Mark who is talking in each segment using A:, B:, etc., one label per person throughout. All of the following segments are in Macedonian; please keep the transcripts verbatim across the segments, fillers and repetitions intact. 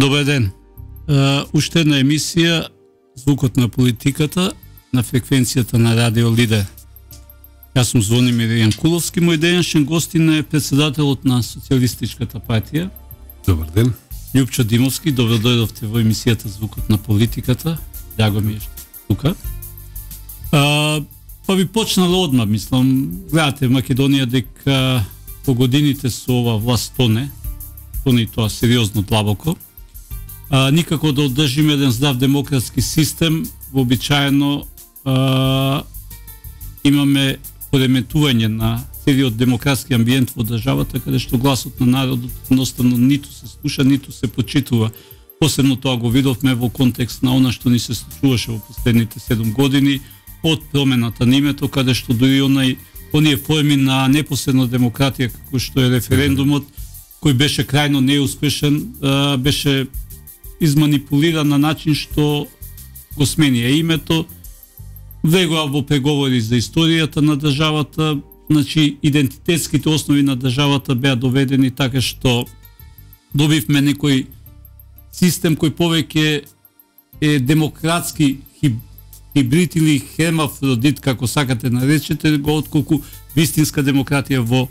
A: Добар ден. Uh, уште една емисија Звукот на политиката на фреквенцијата на Радио Лидер. Јас сум Звонимир Јанкуловски, мој денешен гостин е председателот на Социјалистичката партија.
B: Добар ден.
A: Љупчо Димовски, добро дојдовте во емисијата Звукот на политиката. Драго ми е што тука. Uh, па би почнала одма, мислам, гледате Македонија дека по годините со ова власт тоне, тоне и тоа сериозно длабоко. А, никако да одржиме еден здрав демократски систем, вообичаено а, имаме пореметување на целиот демократски амбиент во државата, каде што гласот на народот едноставно ниту се слуша, ниту се почитува. Посебно тоа го видовме во контекст на она што ни се случуваше во последните седум години, од промената на името, каде што дури онај оние форми на непосредна демократија, како што е референдумот, кој беше крајно неуспешен, а, беше изманипулиран на начин што го сменија името, влегува во преговори за историјата на државата, значи идентитетските основи на државата беа доведени така што добивме некој систем кој повеќе е демократски хибрид или хермафродит, како сакате наречете го, отколку вистинска демократија во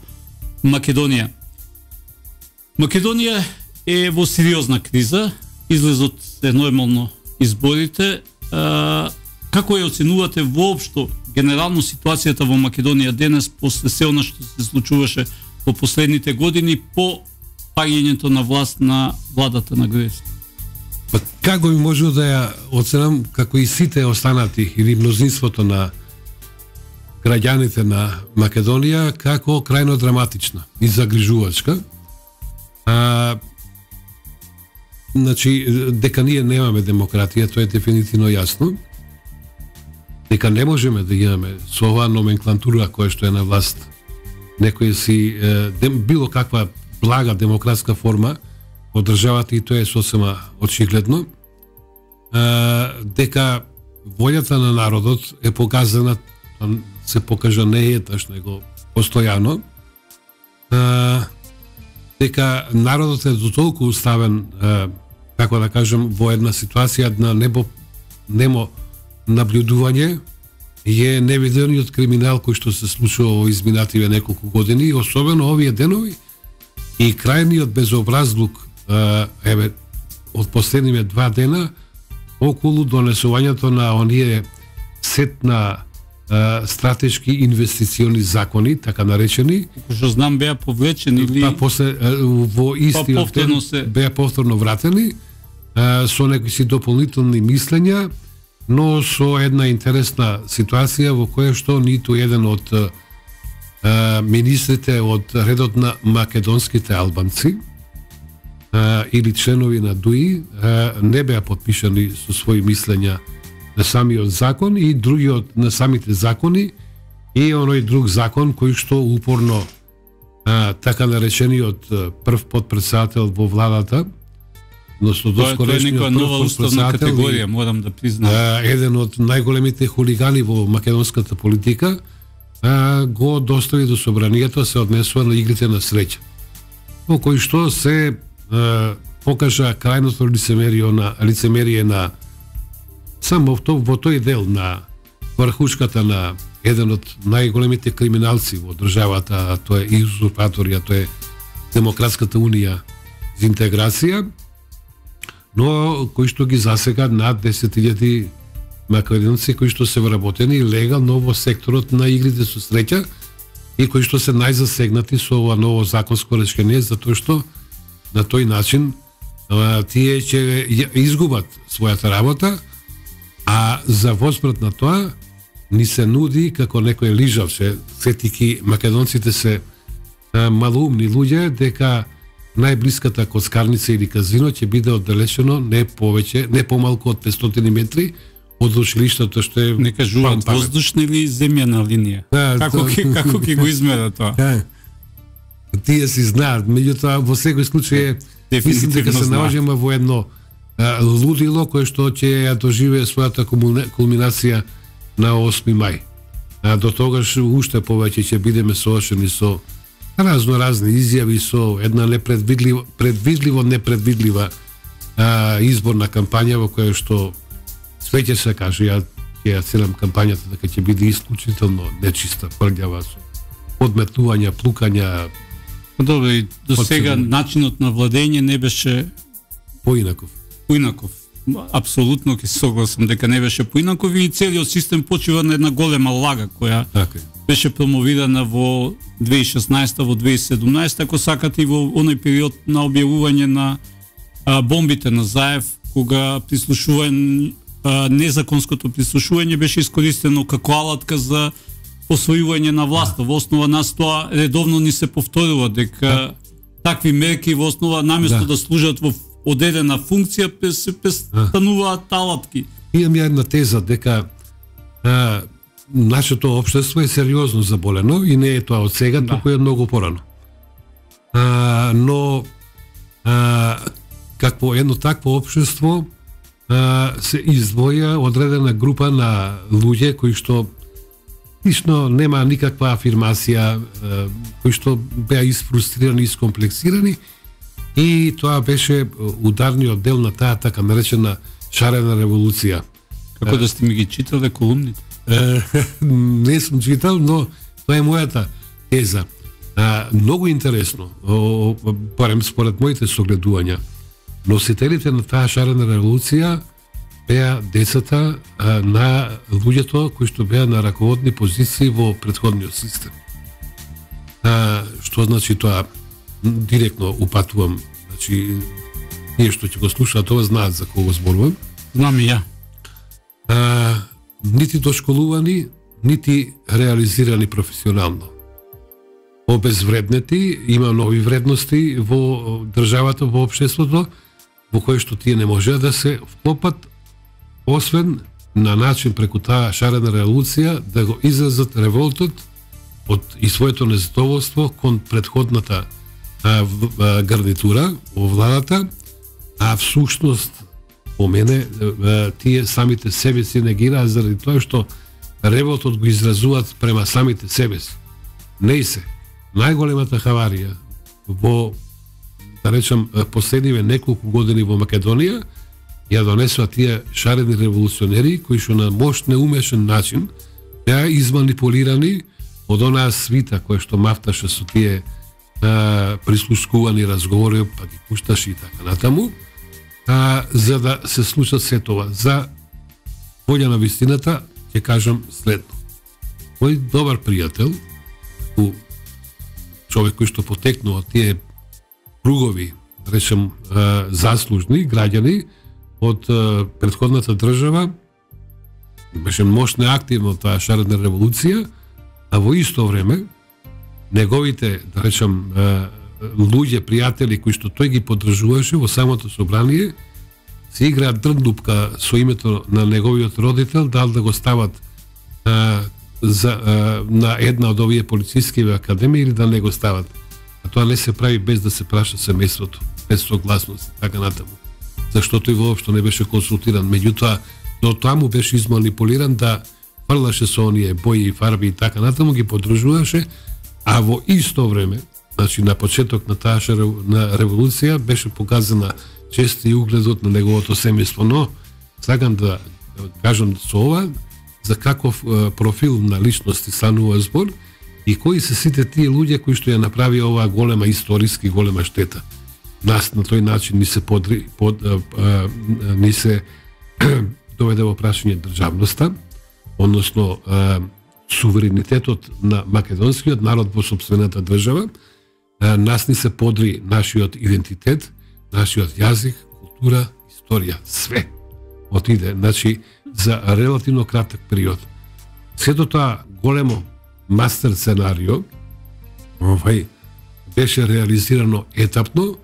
A: Македонија. Македонија е во сериозна криза, излезот е нормално изборите. А, како ја оценувате воопшто генерално ситуацијата во Македонија денес после се она што се случуваше во последните години по паѓањето на власт на владата на Груевски?
B: Па како би можел да ја оценам, како и сите останати или мнозинството на граѓаните на Македонија, како крајно драматична и загрижувачка. А, Значи, дека ние немаме демократија, тоа е дефинитивно јасно. Дека не можеме да имаме со оваа номенклатура која што е на власт некој си е, дем, било каква блага демократска форма од државата, и тоа е сосема очигледно. Е, дека волјата на народот е показана, се покажа не еднаш, него постојано. Е, дека народот е до толку уставен, е, како да кажем, во една ситуација на небо, немо наблюдување, е невидениот криминал кој што се случува во изминативе неколку години, особено овие денови, и крајниот безобразлук, е, еве, од последниве два дена, околу донесувањето на оние сет на стратешки инвестициони закони, така наречени,
A: Што знам беа повлечени или
B: па после во истиот
A: па
B: ден
A: се...
B: беа повторно вратени со некои си дополнителни мислења, но со една интересна ситуација во која што ниту еден од а, министрите од редот на македонските албанци а, или членови на ДУИ а, не беа подпишани со своји мислења на самиот закон и другиот на самите закони и оној друг закон кој што упорно а, така наречениот прв подпредседател во владата, но со доскорешниот прв
A: уставна категорија, морам да признам.
B: А, еден од најголемите хулигани во македонската политика, а, го достави до собранието, се однесува на игрите на среќа, во кој што се а, покажа крајното лицемерие на лицемерие на само во, во тој дел на врхушката на еден од најголемите криминалци во државата, а тоа е узурпаторија, тоа е Демократската унија за интеграција, но кои што ги засега над десет илјади македонци кои што се вработени легално во секторот на игрите со среќа и кои што се најзасегнати со ова ново законско решение, затоа што на тој начин а, тие ќе изгубат својата работа, а за воспрат на тоа ни се нуди како некој лижав, се сетики македонците се а, малоумни луѓе, дека најблиската коцкарница или казино ќе биде оддалечено не повеќе, не помалку од петстотини метри од училиштето што е...
A: Не кажуваат воздушна или земјана линија.
B: Да,
A: како ќе то... како ќе го измера тоа?
B: Да. Тие си знаат, меѓутоа во секој случај мислам дека се наоѓаме во едно а, лудило кое што ќе ја доживее својата кулминација на осми мај. А до тогаш уште повеќе ќе бидеме соочени со разно разни изјави, со една непредвидливо предвидливо непредвидлива а, изборна кампања во која што све ќе се каже, ја ќе ја целам кампањата дека ќе биде исклучително нечиста, прљава, со подметнувања, плукања.
A: Добро, и до сега начинот на владење не беше
B: поинаков.
A: Поинаков. Апсолутно ќе се согласам дека не беше поинаков и целиот систем почива на една голема лага која
B: така
A: беше промовирана во две илјади и шеснаеста, во две илјади и седумнаесета, ако сакате и во оној период на објавување на а, бомбите на Заев, кога прислушување, а, незаконското прислушување беше искористено како алатка за освојување на власта. Во основа нас тоа редовно ни се повторува дека да. такви мерки во основа наместо да, да служат во одредена функција се престануваат алатки.
B: Имам ја една теза дека а, нашето општество е сериозно заболено и не е тоа од сега, да. туку е многу порано. А, но а, какво едно такво општество а, се издвоја одредена група на луѓе кои што лично нема никаква афирмација, кои што беа изфрустрирани, искомплексирани, и тоа беше ударниот дел на таа така наречена шарена револуција.
A: Како да сте ми ги читале колумните?
B: Не сум читал, но тоа е мојата теза. Многу интересно, барем според моите согледувања, носителите на таа шарена револуција беа децата а, на луѓето кои што беа на раководни позиции во претходниот систем. А, што значи тоа? Директно упатувам, значи ние што ќе го слушаат тоа знаат за кого зборувам.
A: Знам и ја.
B: А, нити дошколувани, нити реализирани професионално. Обезвреднети, има нови вредности во државата, во општеството, во кое што тие не можеа да се вклопат, освен на начин преку таа шарена револуција да го изразат револтот од и своето незадоволство кон претходната а, в, а, гарнитура во владата, а всушност по мене а, тие самите себе си негираат заради тоа што револтот го изразуваат према самите себе си. Не и се. Најголемата хаварија во, да речам, последниве неколку години во Македонија ја донесува тие шарени револуционери кои што на мощ неумешен начин беа изманипулирани од онаа свита која што мафташе со тие а, прислушкувани разговори, па ги пушташе и така натаму, а, за да се случат се тоа. За волја на вистината ќе кажам следно. Мој добар пријател, човек кој што потекнува тие кругови, да речем, а, заслужни граѓани од претходната држава, беше мощно активно таа шарена револуција, а во исто време неговите, да речем, луѓе, пријатели кои што тој ги поддржуваше во самото собрание, се играат дрндупка со името на неговиот родител, дал да го стават а, за, а, на една од овие полициски академии или да не го стават. А тоа не се прави без да се праша семејството, без согласност и така натаму. Защо тој воопшто не беше консултиран. Меѓутоа, до таму беше изманипулиран да фрлаше со оние бои и фарби и така натаму, ги поддржуваше, а во исто време, значи на почеток на таа на револуција, беше показана чест и угледот на неговото семејство. Но, сакам да кажам со ова, за каков профил на личности станува збор и кои се сите тие луѓе кои што ја направи оваа голема историски голема штета. Нас на тој начин ни се подри, под, а, а, ни се доведе во прашање државноста, односно а, суверенитетот на македонскиот народ во сопствената држава, а, нас ни се подри нашиот идентитет, нашиот јазик, култура, историја, све отиде, значи за релативно краток период. Сето тоа големо мастер сценарио овај беше реализирано етапно,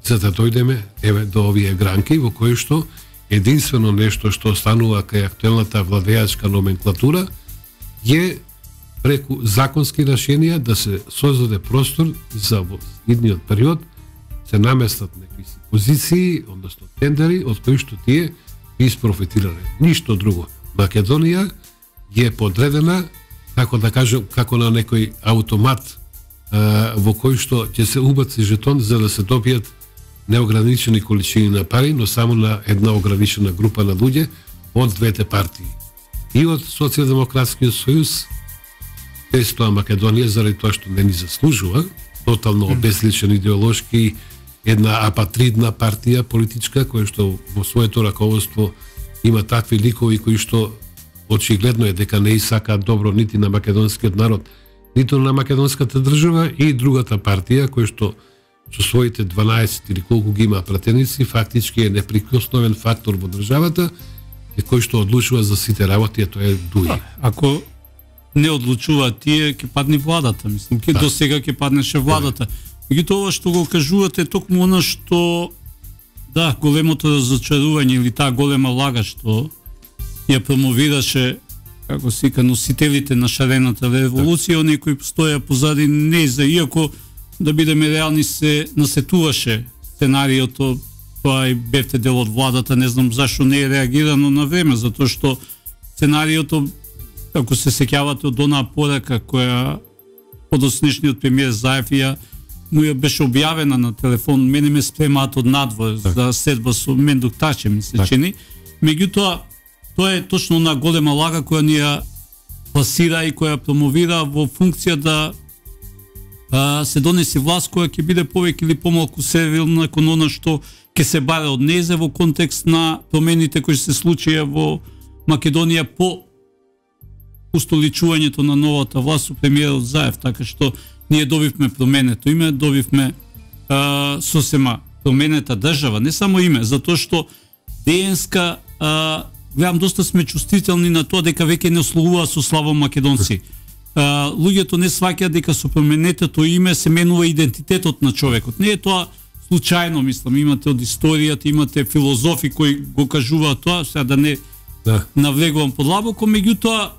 B: за да дојдеме еве до овие гранки во кои што единствено нешто што останува кај актуелната владеачка номенклатура е преку законски решенија да се создаде простор за во идниот период се наместат некои позиции, односно тендери од кои што тие би isprofitирале. Ништо друго. Македонија е подредена, како да кажем, како на некој автомат а, во кој што ќе се убаци жетон за да се добијат неограничени количини на пари, но само на една ограничена група на луѓе од двете партии. И од Социјалдемократскиот сојуз, без тоа Македонија, заради тоа што не ни заслужува, тотално обезличен идеолошки, една апатридна партија политичка, која што во своето раководство има такви ликови кои што очигледно е дека не исакаат добро нити на македонскиот народ, ниту на македонската држава, и другата партија која што со своите дванаесет или колку ги има пратеници, фактички е неприкосновен фактор во државата, и кој што одлучува за сите работи, тоа е ДУИ.
A: Ако не одлучува тие, ќе падне владата, мислам, ќе до сега ќе паднеше владата. Меѓутоа ова што го кажувате, токму она што да, големото разочарување или таа голема лага што ја промовираше, како се вика, носителите на шарената револуција, оние кои стоја позади нејза, иако да бидеме реални се насетуваше сценариото, тоа и бевте дел од владата, не знам зашто не е реагирано на време, затоа што сценариото, ако се сеќавате од онаа порака која подоснешниот премиер Заев ја му ја беше објавена на телефон, мене ме спремаат од надвор за седба со Мендук Таче, ми се чини. Меѓутоа, тоа е точно онаа голема лага која ни ја пласира и која промовира во функција да а, се донеси власт која ќе биде повеќе или помалку сервилна кон она што ќе се бара од незе во контекст на промените кои се случија во Македонија по устоличувањето на новата власт со премиерот Заев, така што ние добивме променето име, добивме а, сосема променета држава, не само име, затоа што ДНС-ка, гледам, доста сме чувствителни на тоа дека веќе не ословува со славом македонци. А, луѓето не сваќаат дека со променетото име се менува идентитетот на човекот. Не е тоа случајно, мислам, имате од историјата, имате филозофи кои го кажуваат тоа, сега да не да. навлегувам подлабоко, меѓутоа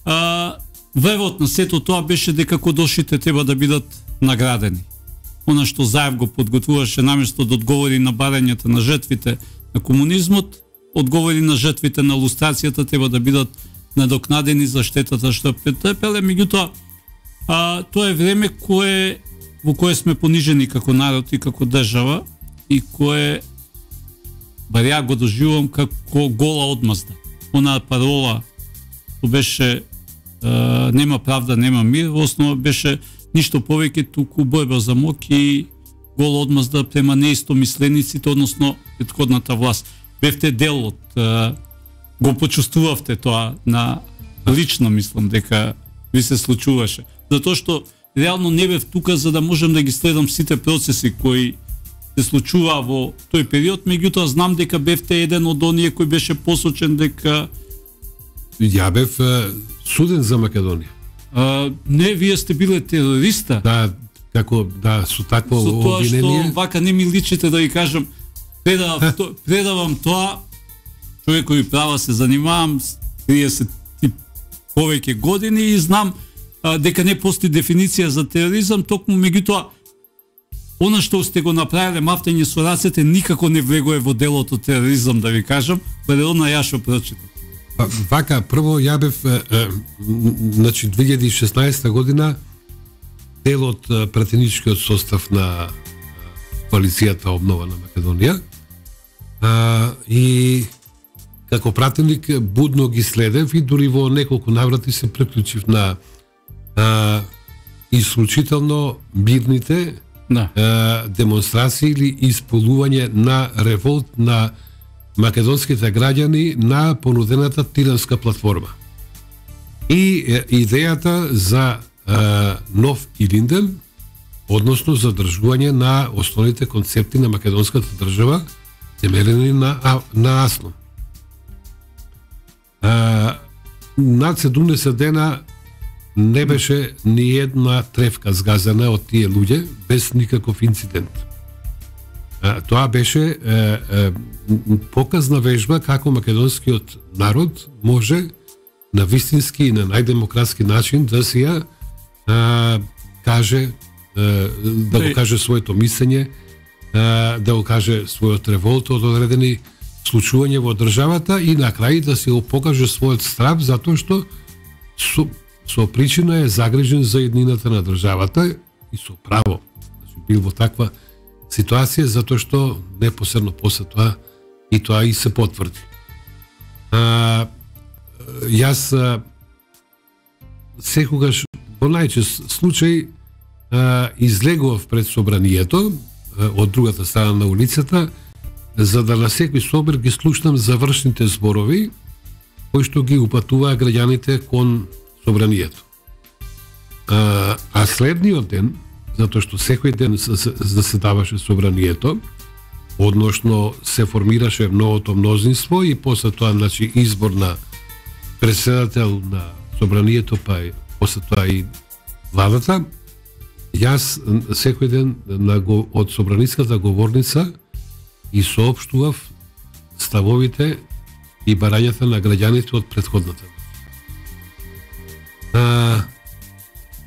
A: а, врвот на сето тоа беше дека кодошите треба да бидат наградени. Она што Заев го подготвуваше наместо да одговори на барањата на жртвите на комунизмот, одговори на жртвите на лустрацијата, треба да бидат надокнадени за штетата што претрпеле. Меѓутоа, а, тоа е време кое во кое сме понижени како народ и како држава и кое бар ја го доживувам како гола одмазда. Онаа парола што беше Uh, нема правда, нема мир, во основа беше ништо повеќе туку борба за мок и гола одмазда према неистомислениците, односно претходната власт. Бевте дел од, uh, го почувствувавте тоа на лично, мислам дека ви се случуваше. Затоа што реално не бев тука за да можам да ги следам сите процеси кои се случуваа во тој период, меѓутоа знам дека бевте еден од оние кој беше посочен дека
B: ја бев суден за Македонија.
A: А, не, вие сте биле терориста.
B: Да, како да со такво обвинение.
A: Со тоа што вака не ми личите да ги кажам, предавам, то, предавам тоа, човек кој права се занимавам триесет и повеќе години и знам а, дека не постои дефиниција за тероризам, токму меѓутоа она што сте го направиле мафтање со рацете никако не влегува во делото тероризам, да ви кажам, предона ја што прочитам.
B: Вака, прво ја бев, значи, две илјади и шеснаесета година дел од пратеничкиот состав на коалицијата Обнова на Македонија а, и како пратеник будно ги следев и дури во неколку наврати се приклучив на а, исклучително мирните
A: да.
B: а, демонстрации или исполнување на револт на македонските граѓани на понудената Тиранска платформа. И е, идејата за е, нов Илинден, односно задржување на основните концепти на македонската држава, темелени на, а, на Асно. Е, над седумдесет дена не беше ни една тревка згазена од тие луѓе без никаков инцидент. Тоа беше е, е, показна вежба како македонскиот народ може на вистински и на најдемократски начин да си ја е, каже, е, да го каже своето мислење, е, да го каже својот револт од одредени случувања во државата и на крај да си го покаже својот страв затоа што со, со причина е загрижен за еднината на државата и со право. Значи, бил во таква ситуација, затоа што непосредно после тоа и тоа и се потврди. А, јас а, секогаш во најчест случај а, излегував пред собранието а, од другата страна на улицата, за да на секој собор ги слушнам завршните зборови кои што ги упатуваа граѓаните кон собранието. А, а следниот ден, затоа што секој ден заседаваше собранието, односно се формираше новото мнозинство и после тоа, значи, избор на председател на собранието, па и после тоа и владата, јас секој ден на, од собраниската говорница и соопштував ставовите и барањата на граѓаните од претходната. А,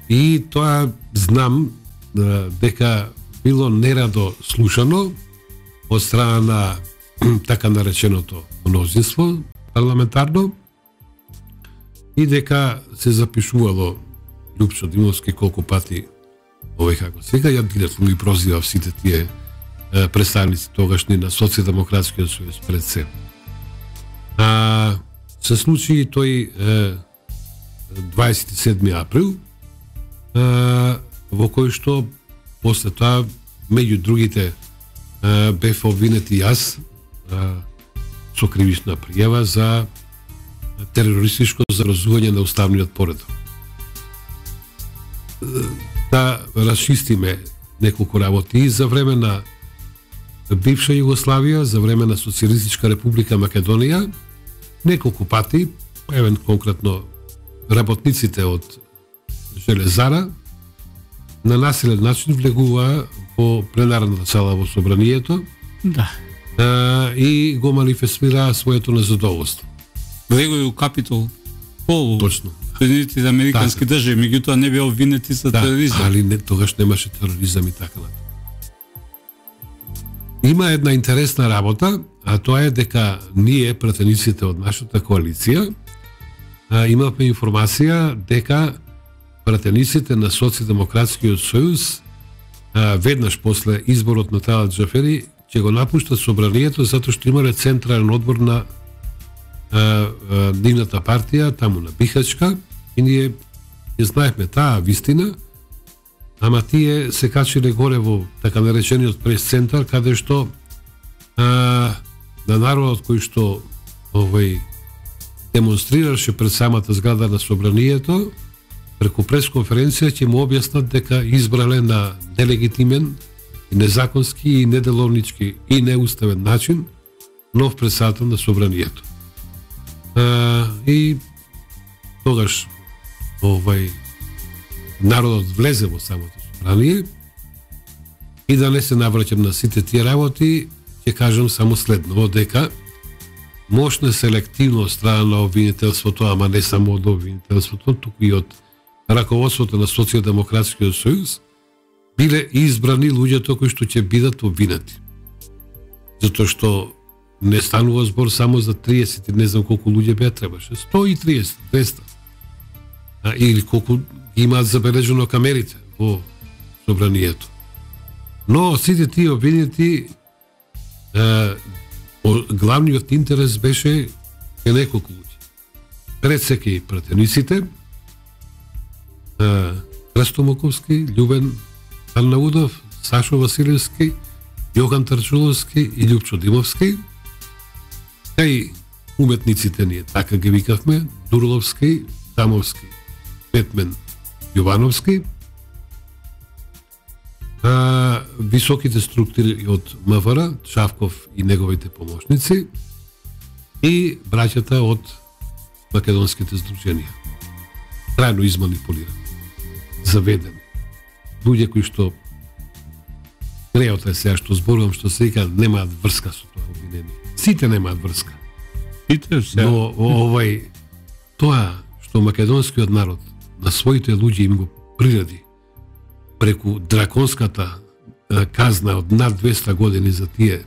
B: и тоа знам а, дека било нерадо слушано од страна на така нареченото мнозинство парламентарно и дека се запишувало Лјупчо Димовски колку пати овој како сега, ја директно ги прозивав сите тие е, представници тогашни на Социјалдемократскиот сојуз пред се. А, се случи тој е, дваесет и седми април, е, во кој што после тоа, меѓу другите, е, бев обвинет и јас е, со кривична пријава за терористичко заразување на уставниот поредок. Да расчистиме неколку работи и за време на бивша Југославија, за време на Социјалистичка република Македонија, неколку пати, евен конкретно работниците од Железара, на насилен начин влегуваа во пленарната сала во собранието,
A: да,
B: а, и го манифестираа своето незадоволство.
A: влегови у Капитол Хол.
B: Точно.
A: Соединетите американски
B: така.
A: држави, меѓутоа не беа обвинети за
B: Да,
A: тероризам.
B: али не, тогаш немаше тероризам и така натаму. Има една интересна работа, а тоа е дека ние, пратениците од нашата коалиција, а, имавме информација дека пратениците на Социјалдемократскиот сојуз а, веднаш после изборот на Талат Џафери ќе го напуштат собранието затоа што имале централен одбор на а, а, нивната партија таму на Бихачка и ние ја знаевме таа вистина, ама тие се качиле горе во така наречениот прес-центар, каде што а, на народот кој што овој демонстрираше пред самата зграда на собранието, преку пресконференција ќе му објаснат дека избрале на нелегитимен, и незаконски и неделовнички и неуставен начин нов председател на собранието. А, и тогаш овај народот влезе во самото собрание и да не се навраќам на сите тие работи, ќе кажам само следново, дека мощна селективно страна на обвинителството, ама не само од обвинителството, туку и од раководството на Социјалдемократскиот сојуз, биле избрани луѓето кои што ќе бидат обвинети. Затоа што не станува збор само за триесет, не знам колку луѓе беа требаше, сто и триесет, двеста. А, или колку имаат забележено камерите во собранието. Но сите тие обвинети, е, главниот интерес беше е неколку луѓе. Пред секи пратениците, е, Христо Моковски, Љубен Аннаудов, Сашо Василевски, Јохан Тарчуловски и Лјупчо Димовски, кај уметниците ние така ги викавме, Дурловски, Дамовски, Петмен, Јовановски, а, високите структури од МВР, Шавков и неговите помошници и браќата од македонските здруженија. Трајно изманипулирани, заведени. Луѓе кои што греот е сега што зборувам, што се вика, немаат врска со тоа обвинение. Сите немаат врска.
A: Сите се.
B: Но овај тоа што македонскиот народ на своите луѓе им го приреди преку драконската е, казна од над двеста години за тие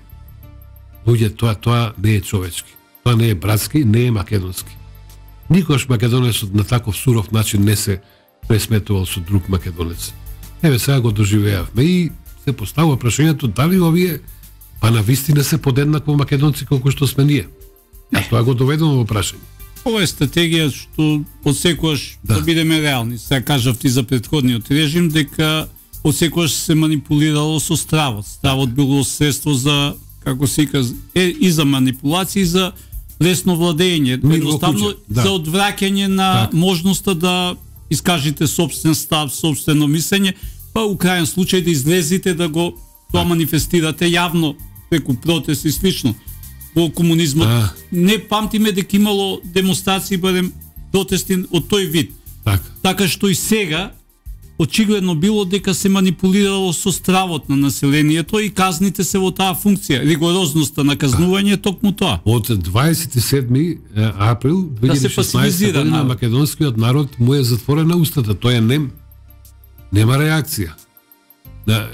B: луѓе, тоа тоа не е човечки. Тоа не е братски, не е македонски. Никош македонецот на таков суров начин не се пресметувал со друг македонец. Еве сега го доживеавме и се поставува прашањето дали овие па на вистина се подеднакво македонци колку што сме ние. А тоа го доведено во прашање.
A: Ова е стратегија што одсекогаш да. да бидеме реални. Сега кажав ти за претходниот режим дека одсекогаш се манипулирало со стравот. Стравот било средство за, како се вика, е, и за манипулација и за лесно владење, едноставно да. за одвраќање на так. можноста да искажите собствен став, собствено мислење, па у крајен случај да излезите да го тоа манифестирате јавно преку протести и слично. Во комунизмот а. не памтиме дека имало демонстрации, барем протести од тој вид.
B: Так.
A: Така што и сега очигледно било дека се манипулирало со стравот на населението и казните се во таа функција. Ригорозноста на казнување е токму тоа.
B: Од дваесет и седми април две илјади и шеснаесета година македонскиот народ му е затворена устата. Тој е нем. Нема реакција. Да,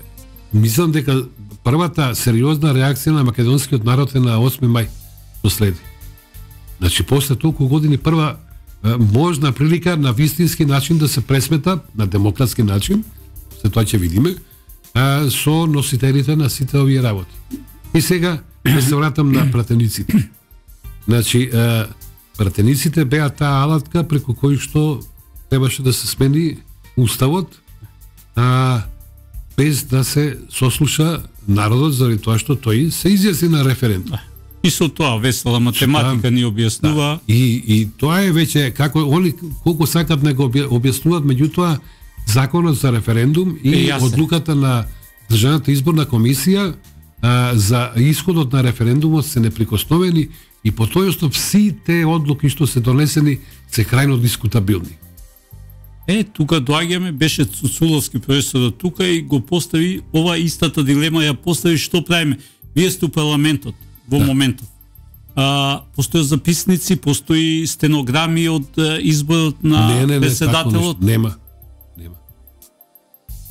B: мислам дека првата сериозна реакција на македонскиот народ е на осми мај што следи. Значи, после толку години прва можна прилика на вистински начин да се пресмета, на демократски начин, се тоа ќе видиме, а, со носителите на сите овие работи. И сега ќе се вратам на пратениците. Значи, а, пратениците беа таа алатка преку кој што требаше да се смени уставот, а, без да се сослуша народот заради тоа што тој се изјасни на референдум.
A: И со тоа весела математика ни објаснува.
B: Да. И, и тоа е веќе, како они колку сакат не го објаснуваат, меѓутоа законот за референдум и одлуката на Државната изборна комисија а, за исходот на референдумот се неприкосновени и по тој основ сите одлуки што се донесени се крајно дискутабилни.
A: Е, тука доаѓаме, беше Цуцуловски професорот тука и го постави ова истата дилема, ја постави што правиме. Вие сте у парламентот во да. моментот. А, постои записници, постои стенограми од изборот на не, не, не, председателот.
B: Нема. Нема.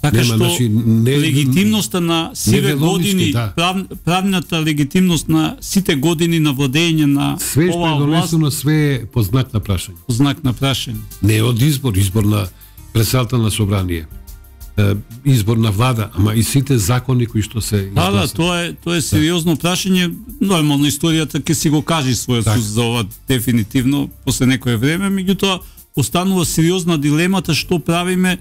A: Така
B: Нема,
A: што
B: значи, не,
A: легитимноста на сиве години, да. прав, правната легитимност на сите години на владење на
B: све што е донесено, све е по знак на прашање.
A: По знак на прашање.
B: Не од избор, избор на председател на собрание. Избор на влада, ама и сите закони кои што се
A: изгласат. Да, да, тоа е тоа е сериозно прашање. Нормално историјата ќе си го кажи својот суд за ова дефинитивно после некое време, меѓутоа останува сериозна дилемата што правиме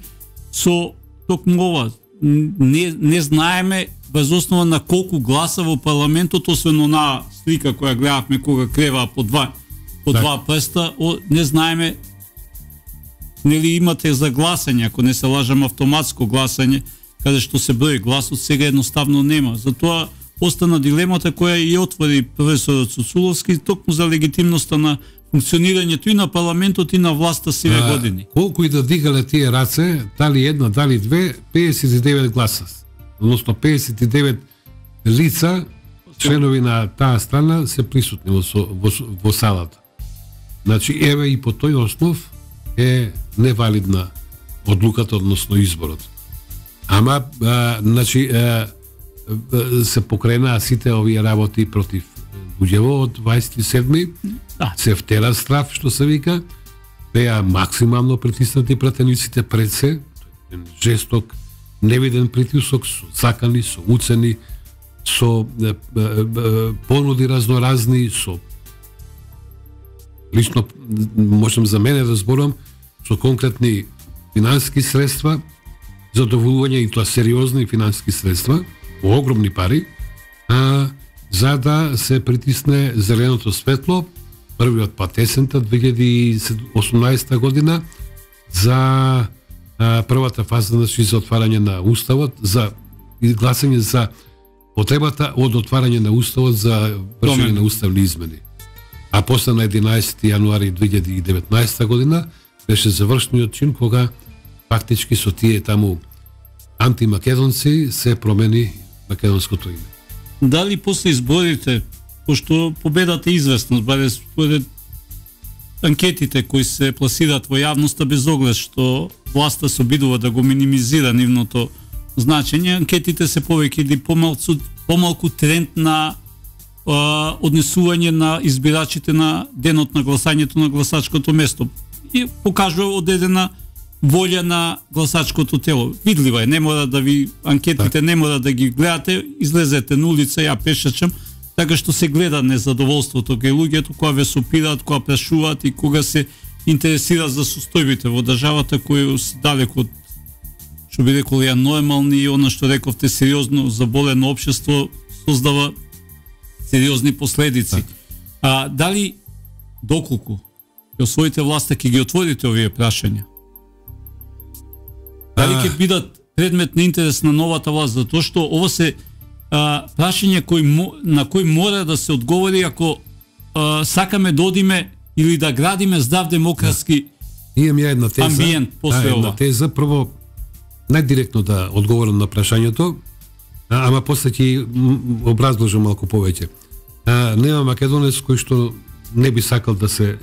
A: со токму ова. Не не знаеме без основа на колку гласа во парламентот, освен онаа слика која гледавме кога креваа по два по два прста, не знаеме нели имате за гласање, ако не се лажам автоматско гласање, каде што се брои гласот, сега едноставно нема. Затоа остана дилемата која и отвори професорот Цуцуловски токму за легитимноста на функционирањето и на парламентот и на власта сиве а, години.
B: Колку и да дигале тие раце, дали една, дали две, педесет и девет гласа. Односно педесет и девет лица, членови на таа страна се присутни во, во, во салата. Значи, еве и по тој основ е невалидна одлуката, односно изборот. Ама, а, значи, а, а, се покренаа сите овие работи против луѓево од дваесет и седми, да. Се втера страф, што се вика, беа максимално притиснати пратениците пред се, жесток, невиден притисок, со закани, со уцени, со е, е, е, понуди разноразни, со лично можам за мене да зборам со конкретни финансиски средства, задоволување и тоа сериозни финансиски средства, огромни пари, а, за да се притисне зеленото светло, првиот пат есента две илјади и осумнаесета година, за а, првата фаза значи, за отварање на уставот, за гласање за потребата од отварање на уставот за вршење на уставни измени. А после на единаесети јануари две илјади и деветнаесета година беше завршниот чин кога фактички со тие таму антимакедонци се промени македонското име.
A: Дали после изборите, пошто победата е известна, баре според анкетите кои се пласираат во јавноста, без оглед што власта се обидува да го минимизира нивното значење, анкетите се повеќе или помалку, помалку тренд на а, однесување на избирачите на денот на гласањето на гласачкото место и покажува одредена волја на гласачкото тело. Видлива е, не мора да ви анкетите так. Не мора да ги гледате, излезете на улица, ја пешачам, така што се гледа незадоволството кај луѓето кога ве сопираат, кога прашуваат и кога се интересира за состојбите во државата кои се далеку од, што би рекол, ја нормални и она што рековте сериозно заболено општество создава сериозни последици. Так. А дали доколку ќе освоите власта ќе ги отворите овие прашања? Дали ќе бидат предмет на интерес на новата власт, затоа што ова се а, прашања кои, на кои мора да се одговори ако а, сакаме да одиме или да градиме здрав демократски
B: да. Имам ја една теза,
A: амбиент после
B: да,
A: ова.
B: Една теза, прво најдиректно да одговорам на прашањето, а, ама после ќе образложам малку повеќе. А, нема македонец кој што не би сакал да се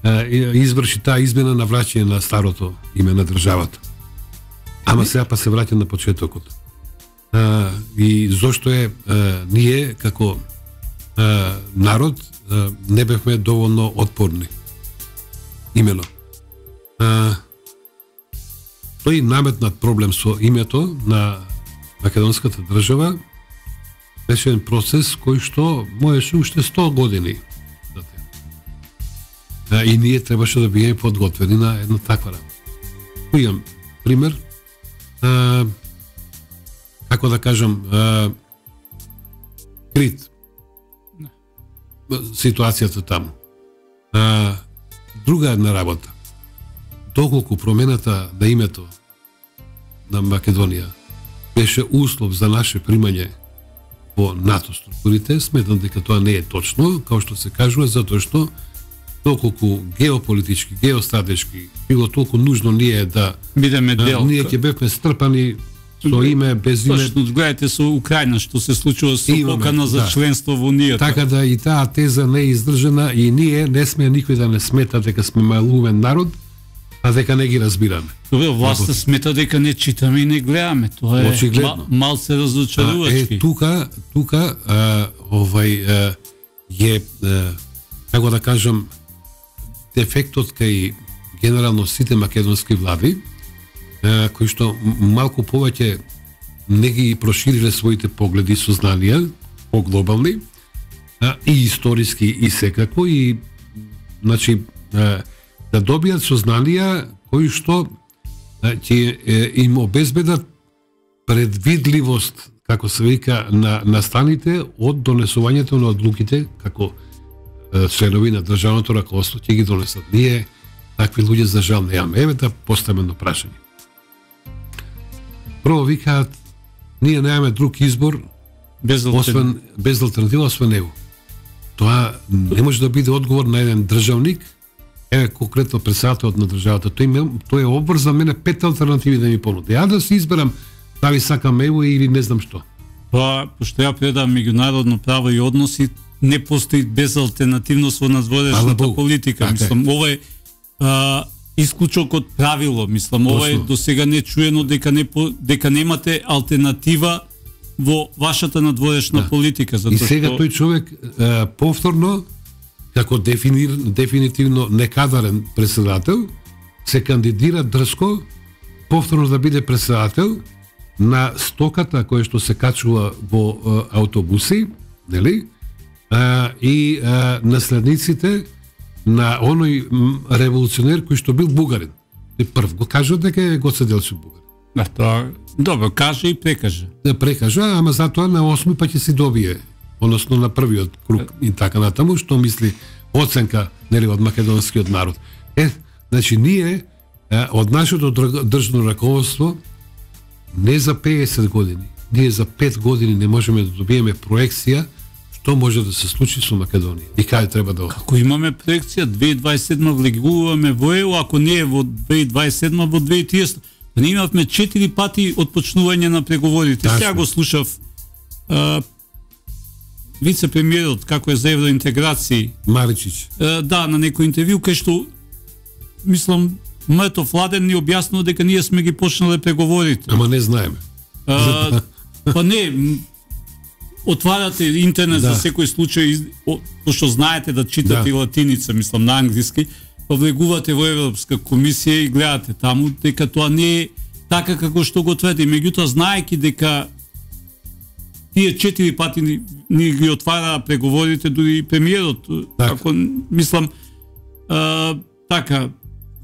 B: а, изврши таа измена на враќање на старото име на државата. Ама сега па се враќа на почетокот. А, и зошто е а, ние како а, народ а, не бевме доволно отпорни. Имено. А, тој наметнат проблем со името на македонската држава беше еден процес кој што можеше уште сто години. А, и ние требаше да бидеме подготвени на една таква работа. Имам пример. А, како да кажам, а, Крит. Ситуацијата таму. А, друга една работа. Доколку промената на името на Македонија беше услов за наше примање во НАТО структурите, сметам дека тоа не е точно, како што се кажува, затоа што толку геополитички, геостратешки, било толку нужно ние да
A: бидеме дел.
B: Ние ќе бевме стрпани со име, без име.
A: Точно, гледате со Украина што се случува со
B: Имаме,
A: покана за
B: да.
A: членство во Унијата.
B: Така да и таа теза не е издржана и ние не сме никој да не смета дека сме малумен народ, а дека не ги разбираме.
A: Добре, власта смета дека не читаме и не гледаме. Тоа е
B: очигледно.
A: Мал се разочарувачки.
B: Е, тука, тука а, овај а, е а, како да кажам дефектот кај генерално сите македонски влади, а, кои што малку повеќе не ги прошириле своите погледи и сознанија, поглобални, а, и историски и секако, и значи а, да добијат сознанија кои што ќе им обезбедат предвидливост, како се вика, на настаните од донесувањето на одлуките како членови на државното раководство ќе ги донесат. Ние такви луѓе за жал немаме. Еве да поставаме прашање. Прво викаат, ние немаме друг избор
A: без
B: освен без алтернатива освен него. Тоа не може да биде одговор на еден државник, еве конкретно председателот на државата. Тој ме, тој е обврза мене пет алтернативи да ми понуди. Ја да се изберам дали сакам его или не знам што.
A: Тоа, пошто ја предам меѓународно право и односи, не постои безалтернативност во надворешната политика.
B: Так,
A: мислам, ова е а, исклучок од правило. Мислам, ова е до сега не чуено дека не дека немате алтернатива во вашата надворешна да. политика.
B: И сега што... тој човек а, повторно, како дефинир, дефинитивно некадарен председател, се кандидира дрско повторно да биде председател на стоката која што се качува во а, автобуси, нели? А, и а, наследниците на оној револуционер кој што бил бугарин. И прв го кажа дека е Гоце Делчев бугарин.
A: Да, тоа, добро, каже и прекаже.
B: Да прекажа, ама затоа на осми па ќе си добие, односно на првиот круг и така натаму, што мисли оценка, нели, од македонскиот народ. Е, значи, ние е, од нашето државно раководство не за песет години, ние за пет години не можеме да добиеме проекција што може да се случи со Македонија и каде треба да оди.
A: Ако имаме проекција, две илјади дваесет и седма влегуваме во ЕУ, ако не е во две илјади дваесет и седма, во две илјади и триесета. Ние имавме четири пати отпочнување на преговорите. Сега го слушав а, вице-премиерот како е за евроинтеграција.
B: Маричич.
A: А, да, на некој интервју кај што мислам Мртов Владен ни објаснува дека ние сме ги почнале преговорите.
B: Ама не знаеме.
A: А, па не, отварате интернет да. за секој случај, пошто знаете да читате да. и латиница, мислам на англиски, повлегувате во Европска комисија и гледате таму дека тоа не е така како што го тврди. Меѓутоа, знаеки дека тие четири пати ни, ни ги отвара преговорите, дури и премиерот,
B: так.
A: Ако мислам а, така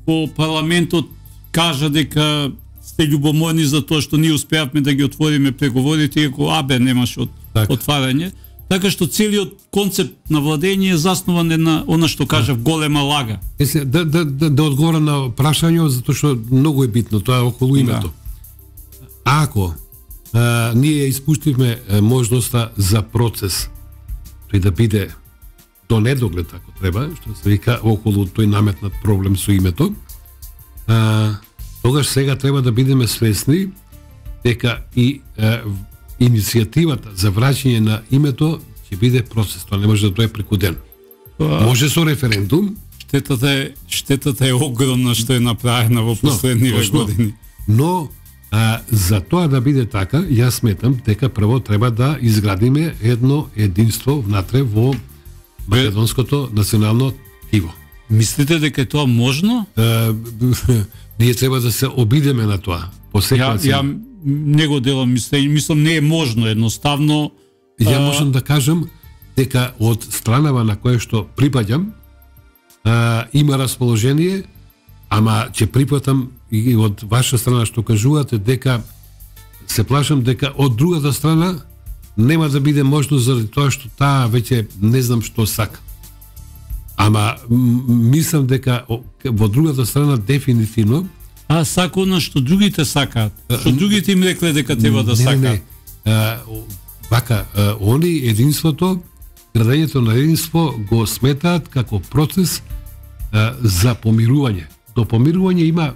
A: во парламентот кажа дека сте љубоморни за тоа што ние успеавме да ги отвориме преговорите, иако АБ немаше от,
B: так.
A: отварање. Така што целиот концепт на владење е заснуван на она што кажав голема лага.
B: Есе, да, да, да, да одговорам на прашањето, затоа што многу е битно тоа околу името. Да. Ако а, ние испуштивме а, можноста за процес, тој да биде до недоглед, ако треба, што се вика околу тој наметнат проблем со името, а, тогаш сега треба да бидеме свесни дека и а, иницијативата за враќање на името ќе биде процес, тоа не може да дое преку ден.
A: Тоа...
B: Може со референдум.
A: Штетата е, штетата е огромна што е направена во последниве
B: но,
A: години.
B: Но а, за тоа да биде така, јас сметам дека прво треба да изградиме едно единство внатре во македонското национално тиво.
A: Мислите дека е тоа можно?
B: А, ние треба да се обидеме на тоа. По секоја
A: Ја, ја не го делам мислење, мислам не е можно едноставно.
B: Ја
A: а...
B: можам да кажам дека од странава на која што припаѓам а, има расположение, ама ќе припатам и од ваша страна што кажувате дека се плашам дека од другата страна нема да биде можно заради тоа што таа веќе не знам што сака. Ама мислам дека во другата страна дефинитивно
A: А сака она што другите сакаат. Што другите им рекле дека треба да сакаат.
B: Не, не, не. Вака, а, они единството, градењето на единство го сметаат како процес а, за помирување. До помирување има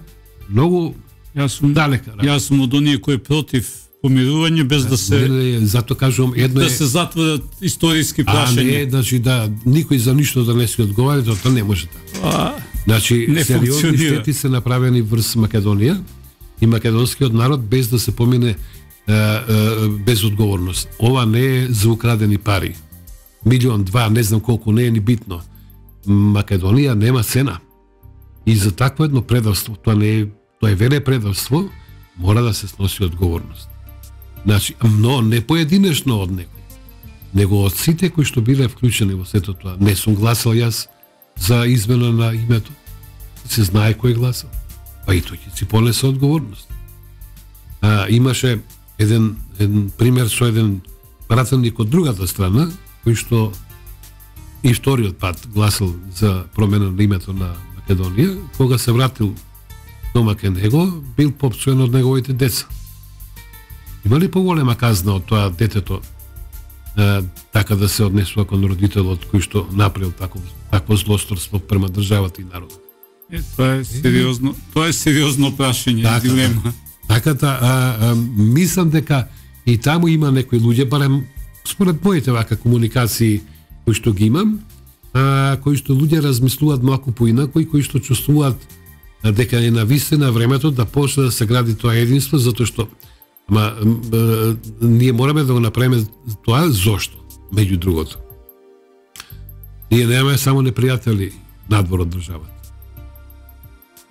B: многу
A: Јас сум
B: далека.
A: Јас сум од оние кои против помирување без да се
B: не, не, зато кажувам едно
A: да
B: е,
A: се затворат историски прашања.
B: А не, значи да никој за ништо да не се одговара, тоа не може така.
A: А,
B: Значи,
A: не
B: сериозни
A: функционира.
B: штети се направени врз Македонија и македонскиот народ без да се помине е, е, без одговорност. Ова не е за украдени пари. Милион, два, не знам колку, не е ни битно. Македонија нема цена. И за такво едно предавство, тоа не е, тоа е веле предавство, мора да се сноси одговорност. Значи, но не поединечно од некој, него од сите кои што биле вклучени во сето тоа. Не сум гласал јас за измена на името. Се знае кој гласал. Па и тој ќе си понесе одговорност. А, имаше еден, еден пример со еден пратеник од другата страна, кој што и вториот пат гласал за промена на името на Македонија, кога се вратил дома кај него, бил попсуен од неговите деца. Има ли поголема казна од тоа детето е, така да се однесува кон родителот кој што направил такво такво злосторство према државата и народот?
A: Е, тоа е сериозно, тоа е сериозно прашање,
B: Така,
A: дилема.
B: Таката, а, а, мислам дека и таму има некои луѓе, барем според моите вака комуникации кои што ги имам, а, кои што луѓе размислуваат малку поинаку и кои што чувствуваат а, дека е навистина времето да почне да се гради тоа единство, затоа што ама а, ние мораме да го направиме тоа зошто, меѓу другото. Ние немаме само непријатели надвор од државата.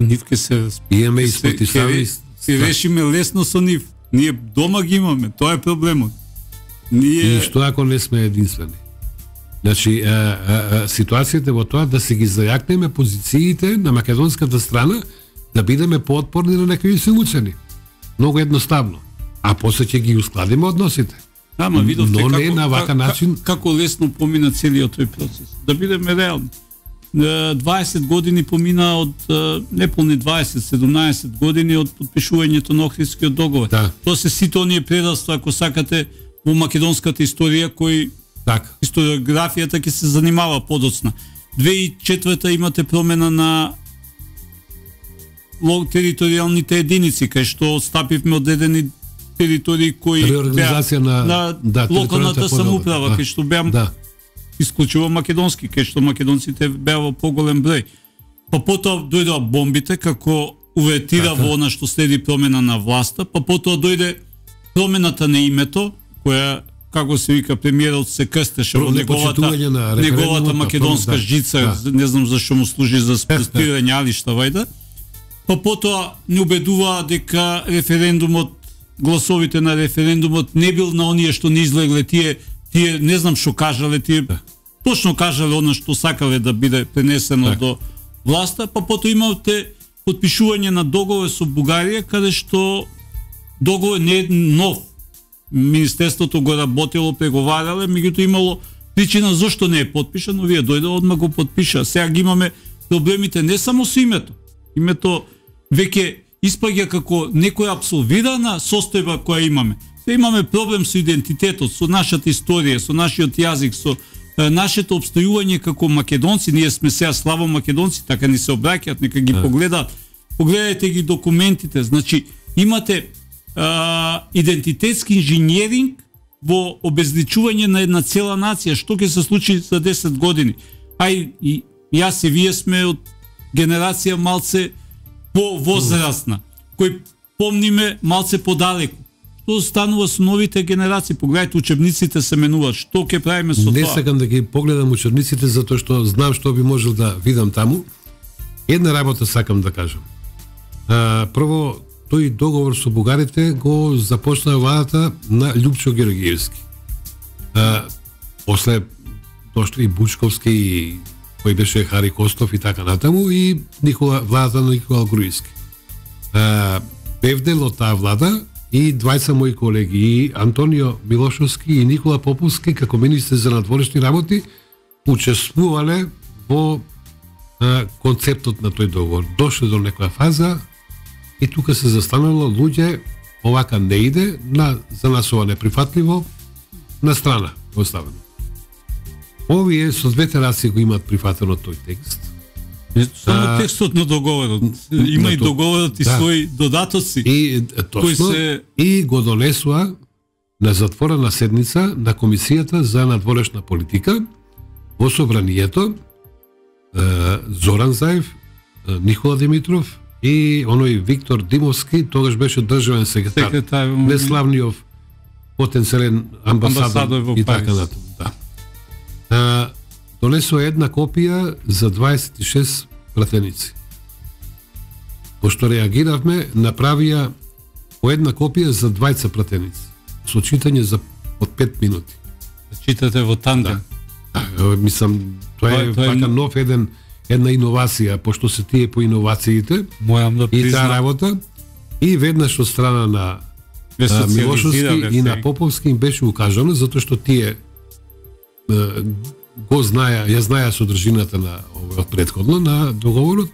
A: Нив ке се
B: Имаме и
A: се-
B: спотисави.
A: ке- Се решиме лесно со нив. Ние дома ги имаме, тоа е проблемот. Ние
B: И што ако не сме единствени? Значи, а, а, а, ситуацијата во тоа да се ги зајакнеме позициите на македонската страна, да бидеме поотпорни на некои силуцени. Многу едноставно. А после ќе ги ускладиме односите.
A: Ама видовте
B: Но
A: како,
B: не на вака
A: ка-
B: начин.
A: како лесно помина целиот тој процес. Да бидеме реални. Е, дваесет години помина од е, неполни дваесет, седумнаесет години од подпишувањето на Охридскиот договор.
B: Да.
A: Тоа се сите оние предавства, ако сакате, во македонската историја кои
B: Така.
A: историографијата ќе се занимава подоцна. две тисячи и четврта имате промена на лог територијалните единици, кај што отстапивме од едени територии кои
B: Реорганизација на-
A: на
B: да,
A: локалната
B: територијата
A: самоуправа,
B: подобра, да.
A: кај што беа
B: Да.
A: исклучува македонски, кај што македонците беа во поголем број. Па потоа дојдоа бомбите како увертира
B: Така.
A: во она што следи промена на власта, па потоа дојде промената на името, која како се вика, премиерот се крстеше во неговата,
B: на
A: неговата македонска
B: да,
A: жица,
B: да.
A: не знам зашто му служи за спирање алишта, вајда. Па потоа не убедуваа дека референдумот, гласовите на референдумот не бил на оние што не излегле, тие, тие не знам што кажале, тие да. Точно кажале она што сакале да биде пренесено так. До власта, па потоа имавте потпишување на договор со Бугарија, каде што договор не е нов. Министерството го работело, преговарале, меѓутоа имало причина зошто не е потпишан, но вие дојде одма го подпиша. Сега ги имаме проблемите не само со името. Името веќе испаѓа како некоја абсолвирана состојба која имаме. Се имаме проблем со идентитетот, со нашата историја, со нашиот јазик, со е, нашето обстојување како македонци. Ние сме сега славо македонци, така ни се обраќаат, нека ги погледаат. Погледајте ги документите. Значи, имате а, идентитетски инженеринг во обезличување на една цела нација. Што ќе се случи за десет години? Ај, и јас и вие сме од генерација малце по-возрастна, кој помниме малце подалеку. Што станува со новите генерации? Погледајте, учебниците се менуваат. Што ќе правиме со
B: Не
A: тоа?
B: Не сакам да ги погледам учебниците, затоа што знам што би можел да видам таму. Една работа сакам да кажам. А, прво, тој договор со бугарите го започна владата на Љупчо Георгиевски. А, после дошли и Бучковски, и кој беше Хари Костов и така натаму, и Никола, владата на Никола Груевски. А, бев дел од таа влада и двајца мои колеги, и Антонио Милошовски и Никола Поповски, како министри за надворешни работи, учествувале во а, концептот на тој договор. Дошле до некоја фаза и тука се застанало луѓе, овака не иде, на, за нас ова неприфатливо, на страна оставено. Овие со двете раси го имаат прифатено тој текст.
A: Не само текстот на договорот, има и договорот и да. Своји додатоци.
B: И точно, се... и го донесува на затворена седница на Комисијата за надворешна политика во собранието Зоран Заев, Никола Димитров и оној Виктор Димовски, тогаш беше државен секретар, секретар неславниот потенцијален амбасадор, амбасадор и така натаму. Да. А, донесува една копија за дваесет и шест пратеници. Пошто реагиравме, направија по една копија за двајца пратеници. Со читање за од пет минути.
A: Читате во тандем.
B: Да. А, мислам, тоа е
A: тоа,
B: така
A: е...
B: нов еден една иновација, пошто се тие по иновациите.
A: Мојам да
B: призна... И таа работа. И веднаш од страна на а, Милошовски и на Поповски им беше укажано, затоа што тие го знаја, ја знаја содржината на овој претходно на договорот,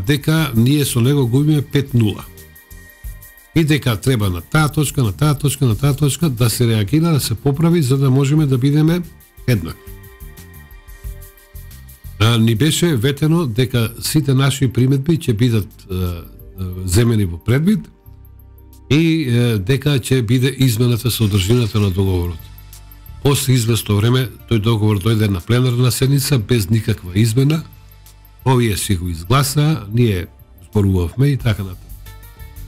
B: дека ние со него губиме пет нула. И дека треба на таа точка, на таа точка, на таа точка да се реагира, да се поправи за да можеме да бидеме еднакви. Ни беше ветено дека сите наши приметби ќе бидат земени во предвид и дека ќе биде измената содржината на договорот. После известно време тој договор дојде на пленарна седница без никаква измена. Овие си го изгласа, ние зборувавме и така натаму.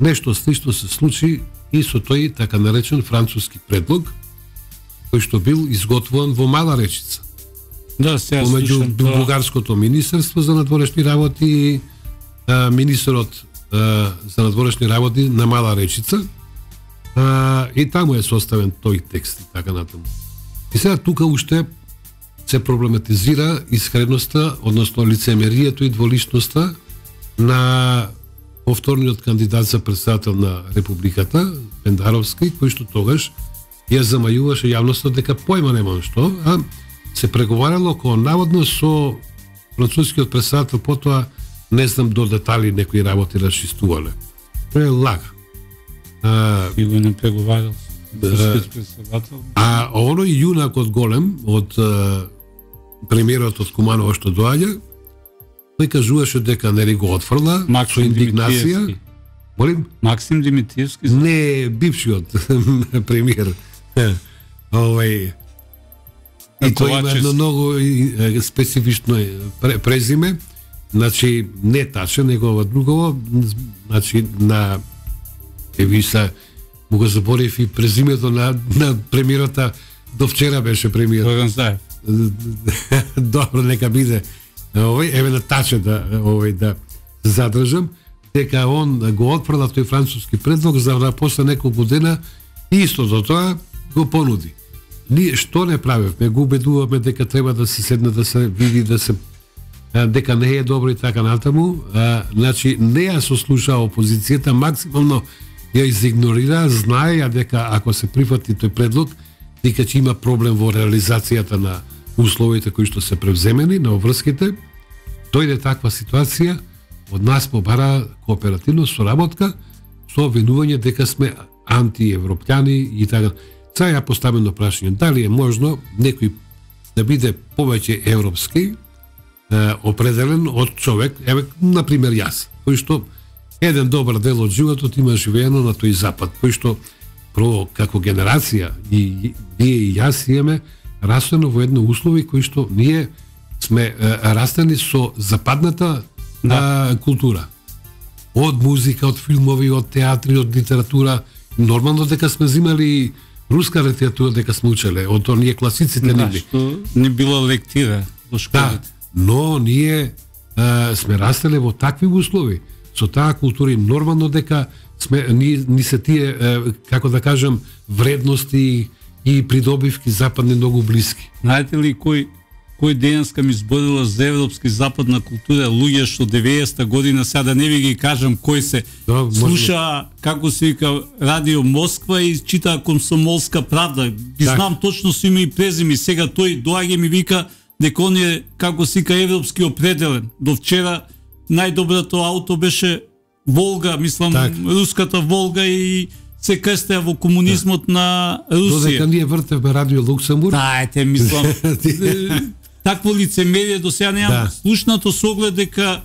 B: Нешто слично се случи и со тој така наречен француски предлог, кој што бил изготвуван во Мала Речица.
A: Да, сега
B: помеѓу бугарското министерство за надворешни работи и а, министерот а, за надворешни работи на Мала Речица. А, и таму е составен тој текст и така натаму. И сега тука уште се проблематизира искреността, односно лицемерието и дволичноста на повторниот кандидат за председател на Републиката, Пендаровски, кој што тогаш ја замајуваше јавноста дека појма нема што, а се преговарало кога наводно со францускиот председател, потоа не знам до детали некои работи расчистувале. Тоа е лага. А,
A: и го не преговарал
B: да, а оној јунакот голем од премиерот од Куманово што доаѓа, тој кажуваше дека нели го отфрла со индигнација. Молим?
A: Максим Димитриевски?
B: Не, бившиот премиер. Овој и тој има едно многу специфично презиме, значи не таче, него ова другово, значи на Евиса му го заборев и презимето на, на премиерата, до вчера беше премиер.
A: Горан Заев.
B: Добро, нека биде. Овој, еве на таче да, овој, да задржам, дека он го отфрла тој француски предлог, за да после неколку дена исто до тоа го понуди. Ние што не правевме, го убедуваме дека треба да се седне, да се види, да се дека не е добро и така натаму. А, значи, не ја сослуша опозицијата, максимално ја изигнорира, знае дека ако се прифати тој предлог, дека ќе има проблем во реализацијата на условите кои што се превземени, на обврските. Дојде таква ситуација, од нас побара кооперативна соработка со обвинување дека сме антиевропјани и така. Сега ја поставено прашање, дали е можно некој да биде повеќе европски, е, определен од човек, еве, например јас, кој што еден добар дел од животот има живеено на тој запад, кој што прво како генерација и ние и јас имаме растено во едно услови кои што ние сме е, растени со западната да. е, култура. Од музика, од филмови, од театри, од литература. Нормално дека сме взимали руска литература дека сме учеле, од оние класиците
A: да,
B: нивни.
A: Што не била лектира во школите.
B: Да, но ние е, сме растеле во такви услови, со таа култура и нормално дека сме ни, ни се тие е, како да кажам вредности и придобивки западни многу блиски.
A: Знаете ли кој кој денеска ми зборила за европски западна култура, луѓе што деветдесета година, сега да не ви ги кажам кој се, да, слуша како се вика Радио Москва и чита Комсомолска правда. Ги так. Знам точно со име и презиме. Сега тој доаѓа и ми вика дека он е како се вика европски определен. До вчера најдоброто ауто беше Волга, мислам так. Руската Волга и се крстеа во комунизмот да. На Русија.
B: Додека ние вртевме Радио Луксембург.
A: Тајте, мислам. Такво лицемерие до сега неам да. Слушнато со оглед дека,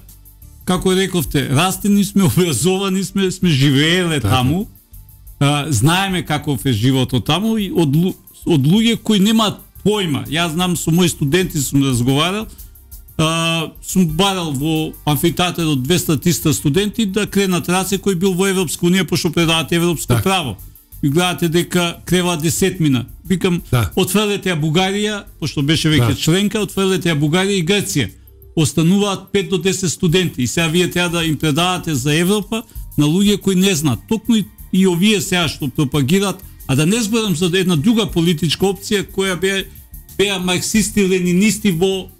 A: како рековте, растени сме, образовани сме, сме живееле да. Таму, а, знаеме каков е животот таму и од, од луѓе кои немаат појма. Јас знам, со мои студенти сум разговарал, а, сум барал во амфитеатерот двеста триста студенти да кренат раце кој бил во Европска унија, пошто предаваат европско так. Право. И гледате дека крева десетмина. Викам, да. Отфрлете ја Бугарија, пошто беше веќе да. Членка, отфрлете ја Бугарија и Грција. Остануваат пет до десет студенти и сега вие треба да им предавате за Европа на луѓе кои не знаат. Токму и, и овие сега што пропагираат, а да не зборам за една друга политичка опција која беа беа марксисти, ленинисти во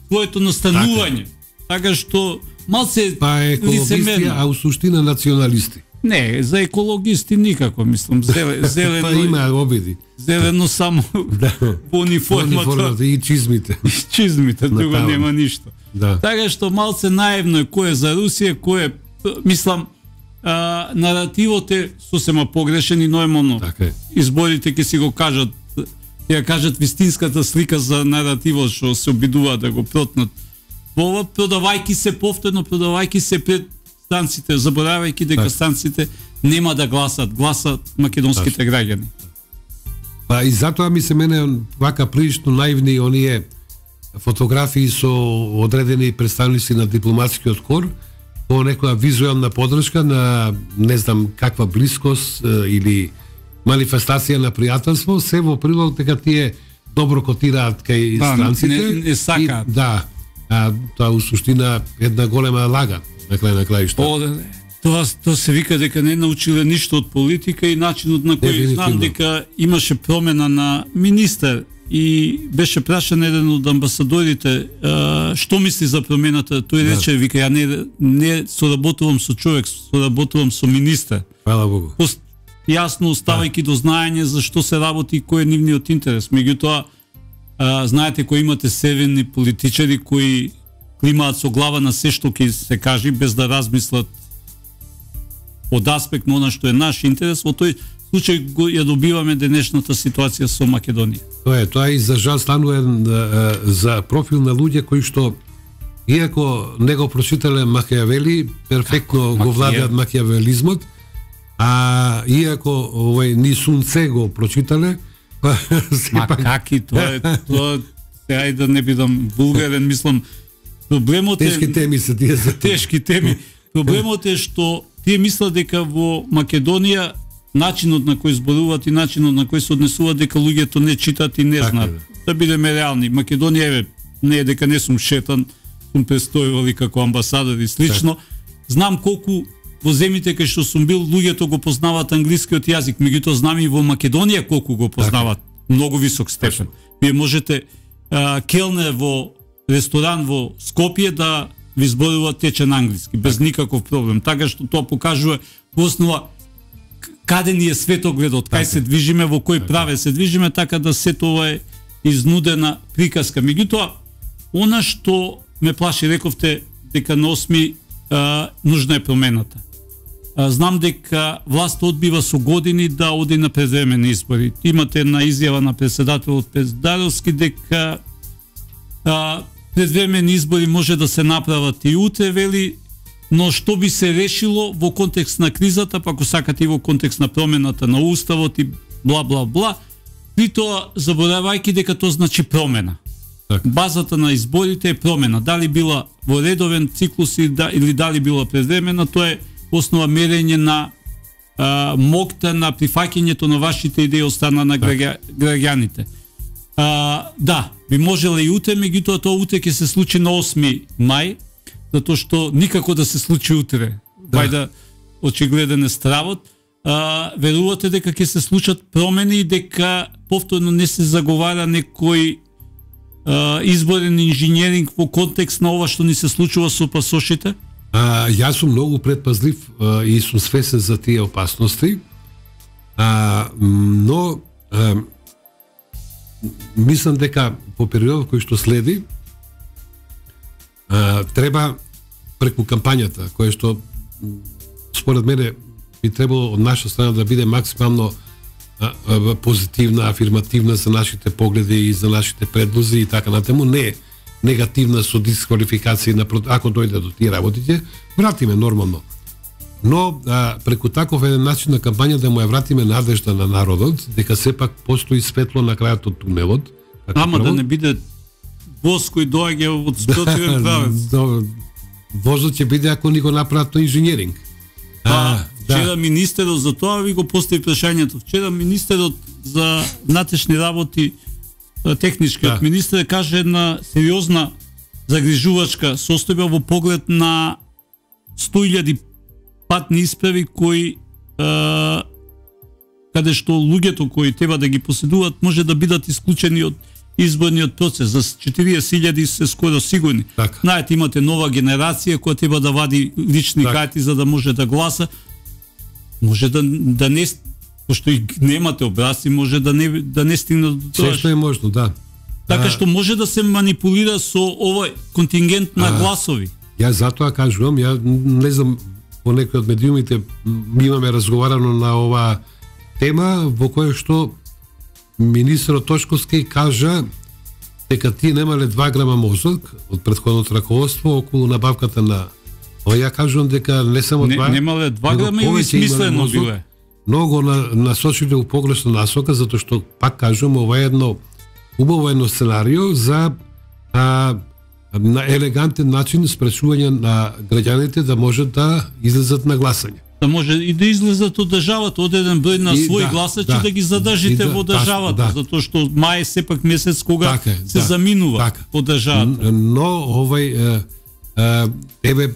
A: своето настанување. Така, така што малце
B: па екологисти, а у суштина националисти.
A: Не, за екологисти никако, мислам, зелено, зелено
B: па има обиди.
A: Зелено само да. Во униформата.
B: Униформата и чизмите.
A: И чизмите, друго нема ништо.
B: Да.
A: Така што малце наивно е кој е за Русија, кој е, мислам, а, наративот е сосема погрешен и нормално.
B: Така е.
A: Изборите ќе си го кажат, ќе ја кажат вистинската слика за наративот што се обидуваат да го протнат. Ова продавајки се повторно, продавајки се пред станците, заборавајќи дека так. Станците нема да гласат, гласат македонските так. Граѓани.
B: Па и затоа ми се мене вака прилично наивни оние фотографии со одредени представници на дипломатскиот кор, по некоја визуелна подршка на не знам каква блискост или манифестација на пријателство, се во прилог дека тие добро котираат кај да, станците.
A: Не, не сакаат.
B: И, да, а тоа у суштина една голема лага. На крај на краишта.
A: О, да, тоа, тоа се вика дека не научиле ништо од политика и начинот на кој знам дека имаше промена на министер и беше прашан еден од амбасадорите а, што мисли за промената. Тој да. Рече, вика, ја не, не соработувам со човек, соработувам со министер.
B: Фала Богу.
A: Пост, јасно оставајќи да. До знаење за што се работи и кој е нивниот интерес. Меѓутоа, а, знаете, кои имате северни политичари кои климаат со глава на се што ќе се кажи без да размислат од аспект на она што е наш интерес, во тој случај го ја добиваме денешната ситуација со Македонија.
B: Тоа е, тоа и за жал станува за профил на луѓе кои што иако не го прочитале Макијавели, перфектно го владеат макијавелизмот, а иако овој ни Сунце го прочитале, па
A: сепак каки тоа е, тоа сега и да не бидам вулгарен, мислам. Проблемот е
B: тешки теми се тие за
A: тешки теми. Проблемот е што тие мислат дека во Македонија начинот на кој зборуваат и начинот на кој се однесуваат, дека луѓето не читат и не знаат. Да бидеме реални, Македонија еве не е дека не сум шетан, сум престојувал и како амбасадор и слично. Знам колку во земите кај што сум бил луѓето го познаваат англискиот јазик, меѓутоа знам и во Македонија колку го познаваат, многу висок степен. Вие можете а, келнер во ресторан во Скопје да ви зборува течен англиски без никаков проблем. Така што тоа покажува во основа каде ни е светогледот, кај се движиме, во кој праве се движиме, така да се тоа е изнудена приказка. Меѓутоа, она што ме плаши, рековте дека на осми а, нужна е промената. А, знам дека власт одбива со години да оди на предвремени избори. Имате една изјава на председателот Пездаровски дека а, предвремени избори може да се направат и утре, вели, но што би се решило во контекст на кризата, па ако сакате и во контекст на промената на уставот и бла бла бла, при тоа заборавајќи дека тоа значи промена. Так. Базата на изборите е промена. Дали била во редовен циклус или дали била предвремена, тоа е основа мерење на а, мокта на прифаќањето на вашите идеи од страна на граѓаните. А, да, би можело и утре, меѓутоа тоа утре ќе се случи на осми мај, затоа што никако да се случи утре. Да. Вајда очигледен е стравот. А, верувате дека ќе се случат промени и дека повторно не се заговара некој а, изборен инженеринг во контекст на ова што ни се случува со пасошите?
B: А, јас сум многу предпазлив а, и сум свесен за тие опасности, а, но а, мислам дека по периодот кој што следи а, треба преку кампањата, која што според мене би требало од наша страна да биде максимално а, а, позитивна, афирмативна за нашите погледи и за нашите предлози и така натаму, не негативна со дисквалификација на ако дојде до тие работите, вратиме нормално. Но а, преку таков еден начин на кампања да му ја вратиме надежда на народот, дека сепак постои светло на крајот од тунелот.
A: Ама право, да не биде воз кој доаѓа од спротивен правец.
B: Возот ќе биде ако ни го направат тој инженеринг.
A: А, вчера да. Министерот за тоа ви го постави прашањето. Вчера министерот за внатрешни работи, техничкиот да. Министер каже една сериозна загрижувачка состојба во поглед на сто илјади патни исправи кои а, каде што луѓето кои треба да ги поседуваат може да бидат исклучени од изборниот процес. За четириесет илјади се скоро сигурни. Так. Знаете, имате нова генерација која треба да вади лични так. карти за да може да гласа. Може да, да не, пошто и немате образци, може да не, да не стигне до тоа.
B: Се што е можно, да.
A: Така а... што може да се манипулира со овој контингент на а... гласови.
B: Ја затоа кажувам, ја не знам, по некои од медиумите ми имаме разговарано на ова тема во која што министерот Тошковски кажа дека тие немале два грама мозок од претходното раководство околу набавката на... О, ја кажувам дека не само
A: не,
B: два...
A: Немале два грама или смислено биле?
B: Многу на, насочили у погрешна насока, затоа што, пак кажувам, ова е едно убаво едно сценарио за а, на елегантен начин спречување на граѓаните да можат да излезат на гласање.
A: Да може и да излезат од државата, од еден број на и, своји да, гласачи да, да ги задржите да, во државата, да. Затоа што мај е сепак месец кога така, се да, заминува така. По државата.
B: Но овој е, е, еве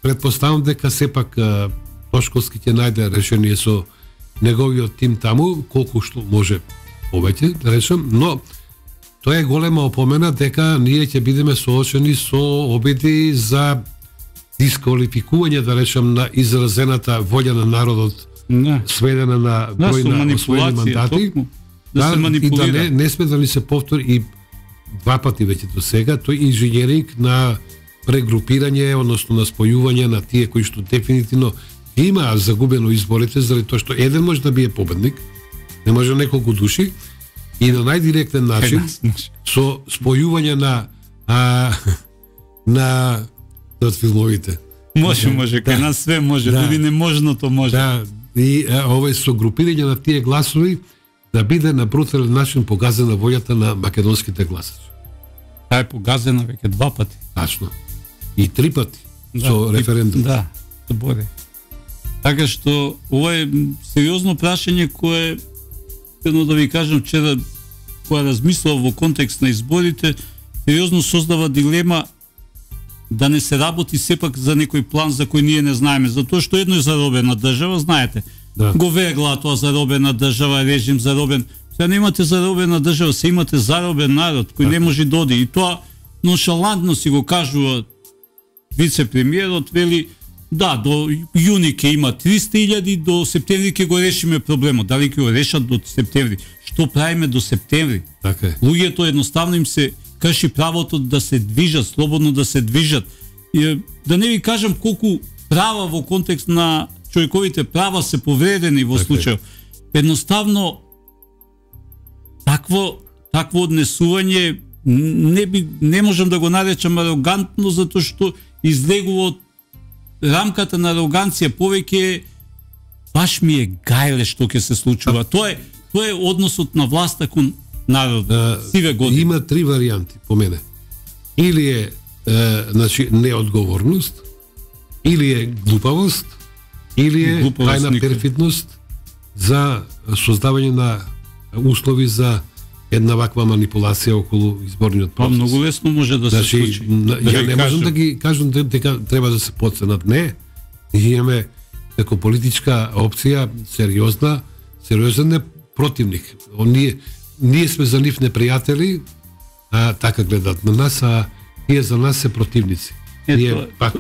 B: претпоставам дека сепак е, Тошковски ќе најде решение со неговиот тим таму, колку што може повеќе, да речем, но тоа е голема опомена дека ние ќе бидеме соочени со обиди за дисквалификување, да речем, на изразената волја на народот, не. Сведена на број да, на освоени мандати, токму, да, да се манипулира. И да не, не сме да ни се повтори и два пати веќе до сега, тој инженеринг на прегрупирање, односно на спојување на тие кои што дефинитивно има загубено изборите, заради тоа што еден може да бие победник, не може неколку души, и на најдиректен начин, со спојување на а, на од филмовите.
A: Може, може, кај нас све може, да, дури неможното може.
B: Да, и а, овој со групирање на тие гласови да биде на брутален начин погазена волјата на македонските гласачи.
A: Таа е погазена веќе два пати.
B: Тачно. И три пати да, со референдум.
A: Да, добре. Така што ова е сериозно прашање кое, едно да ви кажам, вчера кога размислував во контекст на изборите, сериозно создава дилема да не се работи сепак за некој план за кој ние не знаеме, затоа што едно е заробена држава, знаете. Да. Го вегла тоа заробена држава, режим заробен. Сега не имате заробена држава, се имате заробен народ кој не може да оди. И тоа ноншалантно си го кажува вице-премиерот, вели да, до јуни ќе има триста илјади, до септември ќе го решиме проблемот. Дали ќе го решат до септември? Што правиме до септември?
B: Така е.
A: Луѓето едноставно им се крши правото да се движат, слободно да се движат. И, да не ви кажам колку права во контекст на човековите права се повредени во случај. Едноставно такво такво однесување не би не можам да го наречам арогантно, затоа што излегува од рамката на ароганција, повеќе баш ми е гајле што ќе се случува. Тоа е тоа е односот на власта кон народот. Сиве години.
B: Има три варијанти по мене. Или е, е значи неодговорност, или е глупавост, или е тајна перфидност за создавање на услови за една ваква манипулација околу изборниот процес.
A: Па многу лесно може да се
B: значи,
A: случи.
B: Ја не можам да ги кажам дека треба да се подценат. Не. Ние имаме како политичка опција сериозна, сериозен е противник. Ние ние сме за нив непријатели, а така гледат на нас, а ние за нас се противници.
A: Е,
B: ние
A: тоа,
B: пак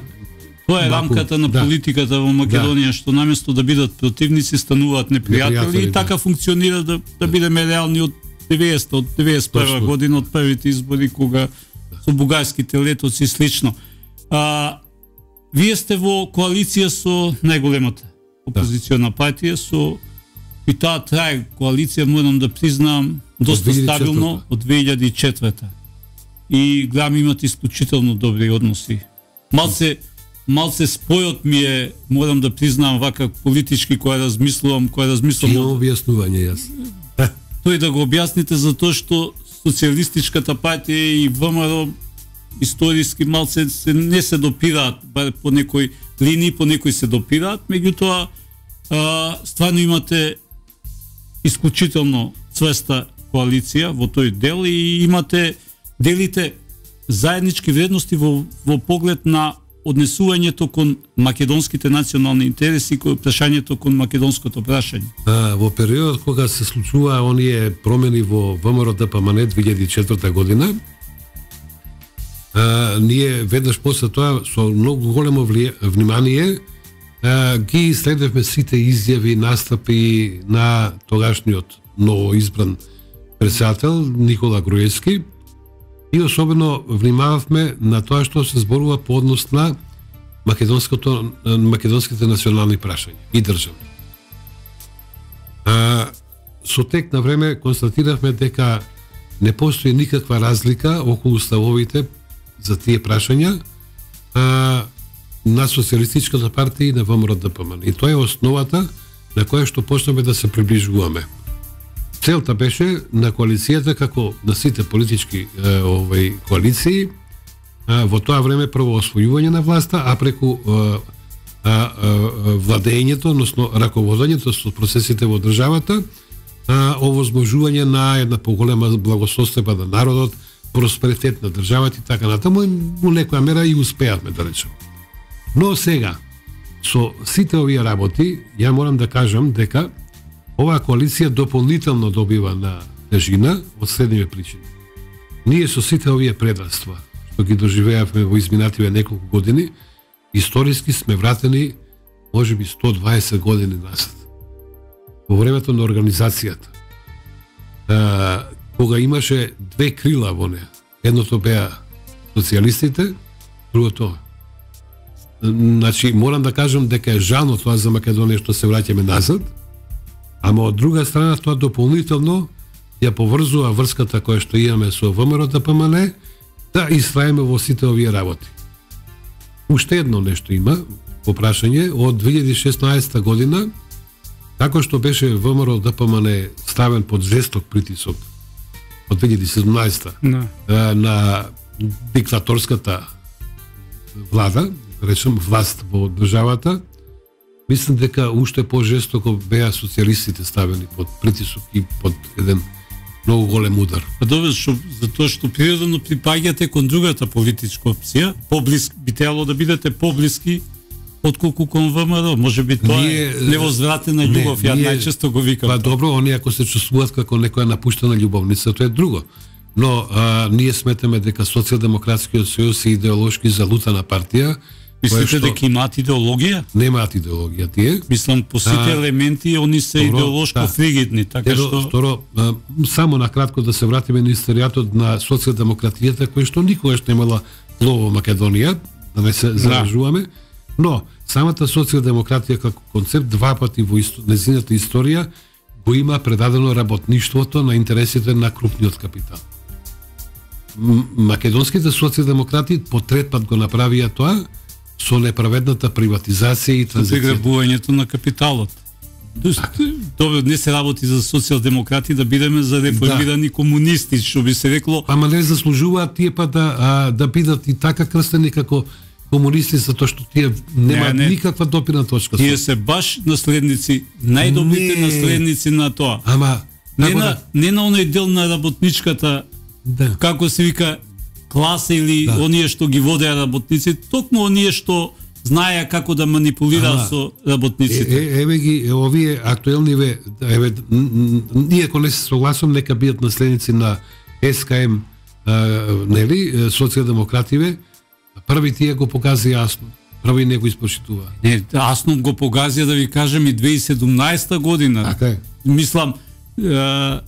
A: тоа е рамката на
B: да.
A: политиката во Македонија, да. Што наместо да бидат противници стануваат непријатели, непријатели и така да. Функционира да, да бидеме реални од деветдесета, од деветдесет и прва година, од првите избори кога со бугарските летоци и слично. А, вие сте во коалиција со најголемата опозициона партија, со и таа трае коалиција, морам да признам, доста стабилно од две илјади и четврта. И гледам имате исклучително добри односи. Малце малце спојот ми е, морам да признам, вака политички која размислувам, која размислувам.
B: Имам објаснување јас.
A: Тој да го објасните затоа што социјалистичката партија и ВМРО историски малце се не се допираат, бар по некој линии, по некој се допираат, меѓутоа стварно имате исклучително цвеста коалиција во тој дел и имате делите заеднички вредности во, во поглед на однесувањето кон македонските национални интереси, кон прашањето кон македонското прашање.
B: А, во периодот кога се случува оние промени во ВМРО-ДПМН две илјади и четврта година, а, ние веднаш после тоа со многу големо влие, внимание а, ги следевме сите изјави, настапи на тогашниот ново избран председател Никола Груевски и особено внимававме на тоа што се зборува по однос на македонското македонските национални прашања и државни. А, со тек на време констатиравме дека не постои никаква разлика околу ставовите за тие прашања а, на Социјалистичката партија и на ВМРО-ДПМН. И тоа е основата на која што почнаме да се приближуваме. Целта беше на коалицијата, како на сите политички е, овој коалиции, е, во тоа време прво освојување на власта, а преку е, е, е, владењето, односно раководењето со процесите во државата, е, овозможување на една поголема благосостојба на народот, просперитет на државата и така натаму, и во некоја мера и успеавме, да речем. Но сега, со сите овие работи, ја морам да кажам дека оваа коалиција дополнително добива на тежина од следниве причини. Ние со сите овие предавства што ги доживеавме во изминативе неколку години, историски сме вратени можеби сто дваесет години назад. Во времето на организацијата, а, кога имаше две крила во неа, едното беа социјалистите, другото. Значи, морам да кажам дека е жално тоа за Македонија што се враќаме назад, ама од друга страна тоа дополнително ја поврзува врската која што имаме со ВМРО-ДПМН да истраеме во сите овие работи. Уште едно нешто има во прашање од две илјади и шеснаесета година, како што беше ВМРО-ДПМН ставен под жесток притисок од две илјади и седумнаесета no. на диктаторската влада, речем власт во државата, мислам дека уште пожестоко беа социјалистите ставени под притисок и под еден многу голем удар.
A: Па добро, што затоа што природно припаѓате кон другата политичка опција, поблиски би требало да бидете поблиски отколку кон ВМРО. Може би тоа ние, е невозвратена љубов, ја најчесто го викам.
B: Па добро, оние ако се чувствуваат како некоја напуштена љубовница, тоа е друго. Но а, ние сметаме дека Социјалдемократскиот сојуз е идеолошки залутана партија.
A: Мислите дека имаат идеологија?
B: Немаат идеологија тие.
A: Мислам, по сите елементи они се добро, идеолошко да. фригидни, така
B: Едо,
A: што...
B: Второ, а, само накратко да се вратиме на историјатот на социјалдемократијата, која што никогаш немала плово Македонија, да не се заражуваме, да. Но самата социјалдемократија како концепт два пати во исто, незината историја го има предадено работништвото на интересите на крупниот капитал. Македонските социјалдемократи по трет пат го направија тоа со неправедната приватизација и транзиција.
A: Приграбувањето на капиталот. Добро, не се работи за социјалдемократи да бидеме за реформирани да. комунисти, што би се рекло.
B: Ама не заслужуваат тие па да а, да бидат и така крстени како комунисти, затоа што тие немаат не, не. никаква допирна точка.
A: Тие се баш наследници, најдобрите не. наследници на тоа.
B: Ама
A: не на да... не на оној дел на работничката, да. како се вика класа или да. оние што ги водеа работници, токму оние што знаеа како да манипулираат со работниците.
B: Е, еве ги овие актуелниве, еве ние ако не се согласувам, нека бидат наследници на Ес Ка Ем, нели, социјалдемокративе. Први тие го показа јасно. Први не го испочитува.
A: Не, јасно го показа, да ви кажем, и две илјади и седумнаесета година.
B: Така е.
A: Мислам, е,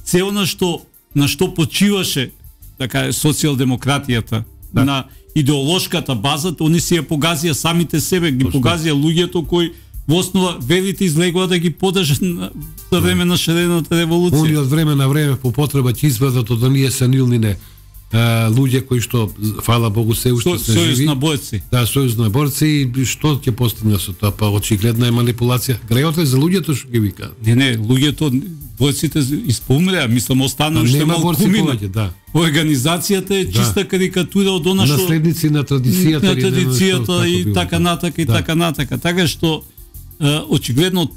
A: се она што на што почиваше така социјалдемократијата, да. на идеолошката база, они си ја погазија самите себе, ги Точно. погазија луѓето кои во основа велите излегува да ги подржат за време на шарената револуција.
B: Они од време на време по потреба ќе извадат од оние сенилнине луѓе кои што, фала Богу, се уште се живи.
A: Сојуз на борци.
B: Да, сојуз на борци, и што ќе постигне со тоа? Па очигледна е манипулација. Грејот е за луѓето што ги вика.
A: Не, не, луѓето, борците испомреа, мислам, останаа уште малку помина.
B: Да.
A: Организацијата е чиста да. карикатура од она што
B: наследници на традицијата,
A: на традицијата и
B: било,
A: така натака и
B: да.
A: така натака. Така што очигледно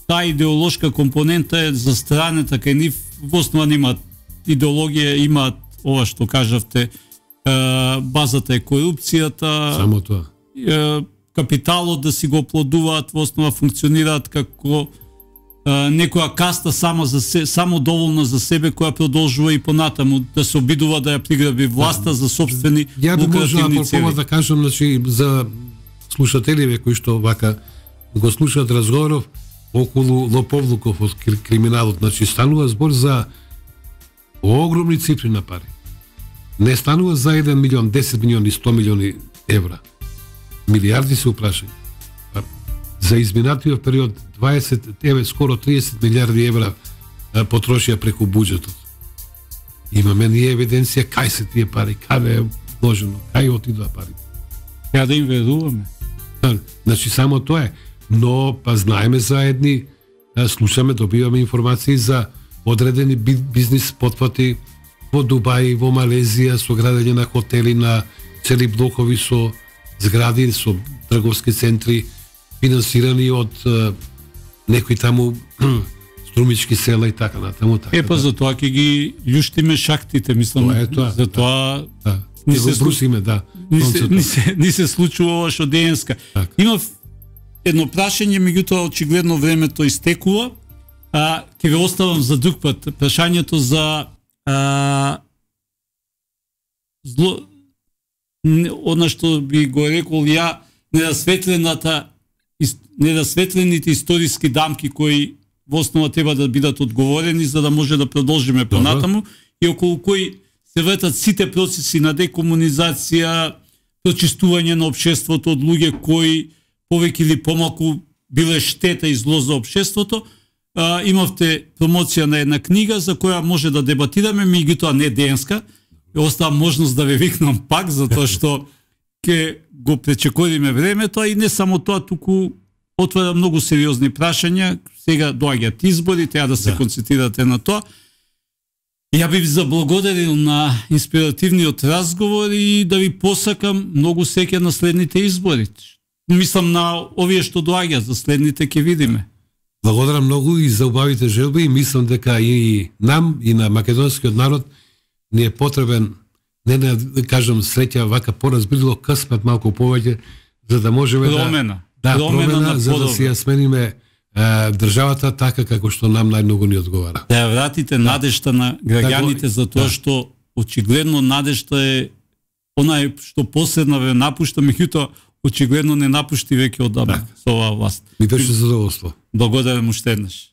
A: таа идеолошка компонента е застранета кај нив, во основа немаат идеологија, имаат ова што кажавте, базата е корупцијата,
B: само тоа.
A: Капиталот да си го оплодуваат, во основа функционираат како некоја каста сама за се, само доволна за себе, која продолжува и понатаму да се обидува да ја приграби власта за сопствени лукративни цели.
B: Ја би да кажам, значи, за слушателиве кои што вака го слушаат разговоров околу лоповлуков од криминалот, значи станува збор за огромни цифри на пари. Не станува за еден милион, десет милиони, сто милиони евра. Милиарди се упрашања. За изминатиот период дваесет, еве скоро триесет милиарди евра потрошија преку буџетот. Имаме ние евиденција кај се тие пари, каде е вложено, кај отидоа пари.
A: Ја да им веруваме.
B: Значи само тоа е. Но па знаеме за едни, слушаме, добиваме информации за одредени бизнис потфати во Дубај, во Малезија, со градење на хотели, на цели блокови со згради, со трговски центри, финансирани од е, некои таму струмички села и така натаму. Така,
A: е, па да. За тоа ќе ги љуштиме шахтите, мислам,
B: тоа е тоа,
A: за тоа...
B: Да, да. Ни се брусиме, да.
A: Ни се, ни се, ни се случува ова што денеска.
B: Так.
A: Има едно прашање, меѓутоа очигледно времето истекува. А, ќе ве оставам за друг пат прашањето за а, зло, одна што би го рекол ја, недосветлената недосветлените историски дамки кои во основа треба да бидат одговорени за да може да продолжиме понатаму и околу кои се вртат сите процеси на декомунизација, прочистување на општеството од луѓе кои повеќе или помалку биле штета и зло за општеството. А, имавте промоција на една книга за која може да дебатираме, меѓутоа не денеска. Остава можност да ве викнам пак, затоа што ќе го пречекориме времето, и не само тоа, туку отвара многу сериозни прашања. Сега доаѓаат избори, треба да се да. концентрирате на тоа. Ја би ви заблагодарил на инспиративниот разговор и да ви посакам многу среќа на следните избори. мислам на овие што доаѓа за следните ќе видиме.
B: Благодарам многу и за убавите желби и мислам дека и нам и на македонскиот народ ни е потребен не да кажам среќа, вака поразбрило късмет малку повеќе за да можеме
A: промена,
B: да да
A: промена,
B: промена
A: на
B: за да си ја смениме а, државата така како што нам најмногу ни одговара.
A: Да ја вратите надежта на граѓаните за тоа
B: да.
A: што очигледно надежта е онај што последна ве напушта, меѓутоа очигледно не напушти веќе одамна со оваа власт.
B: Ми беше задоволство.
A: Благодарам уште еднаш.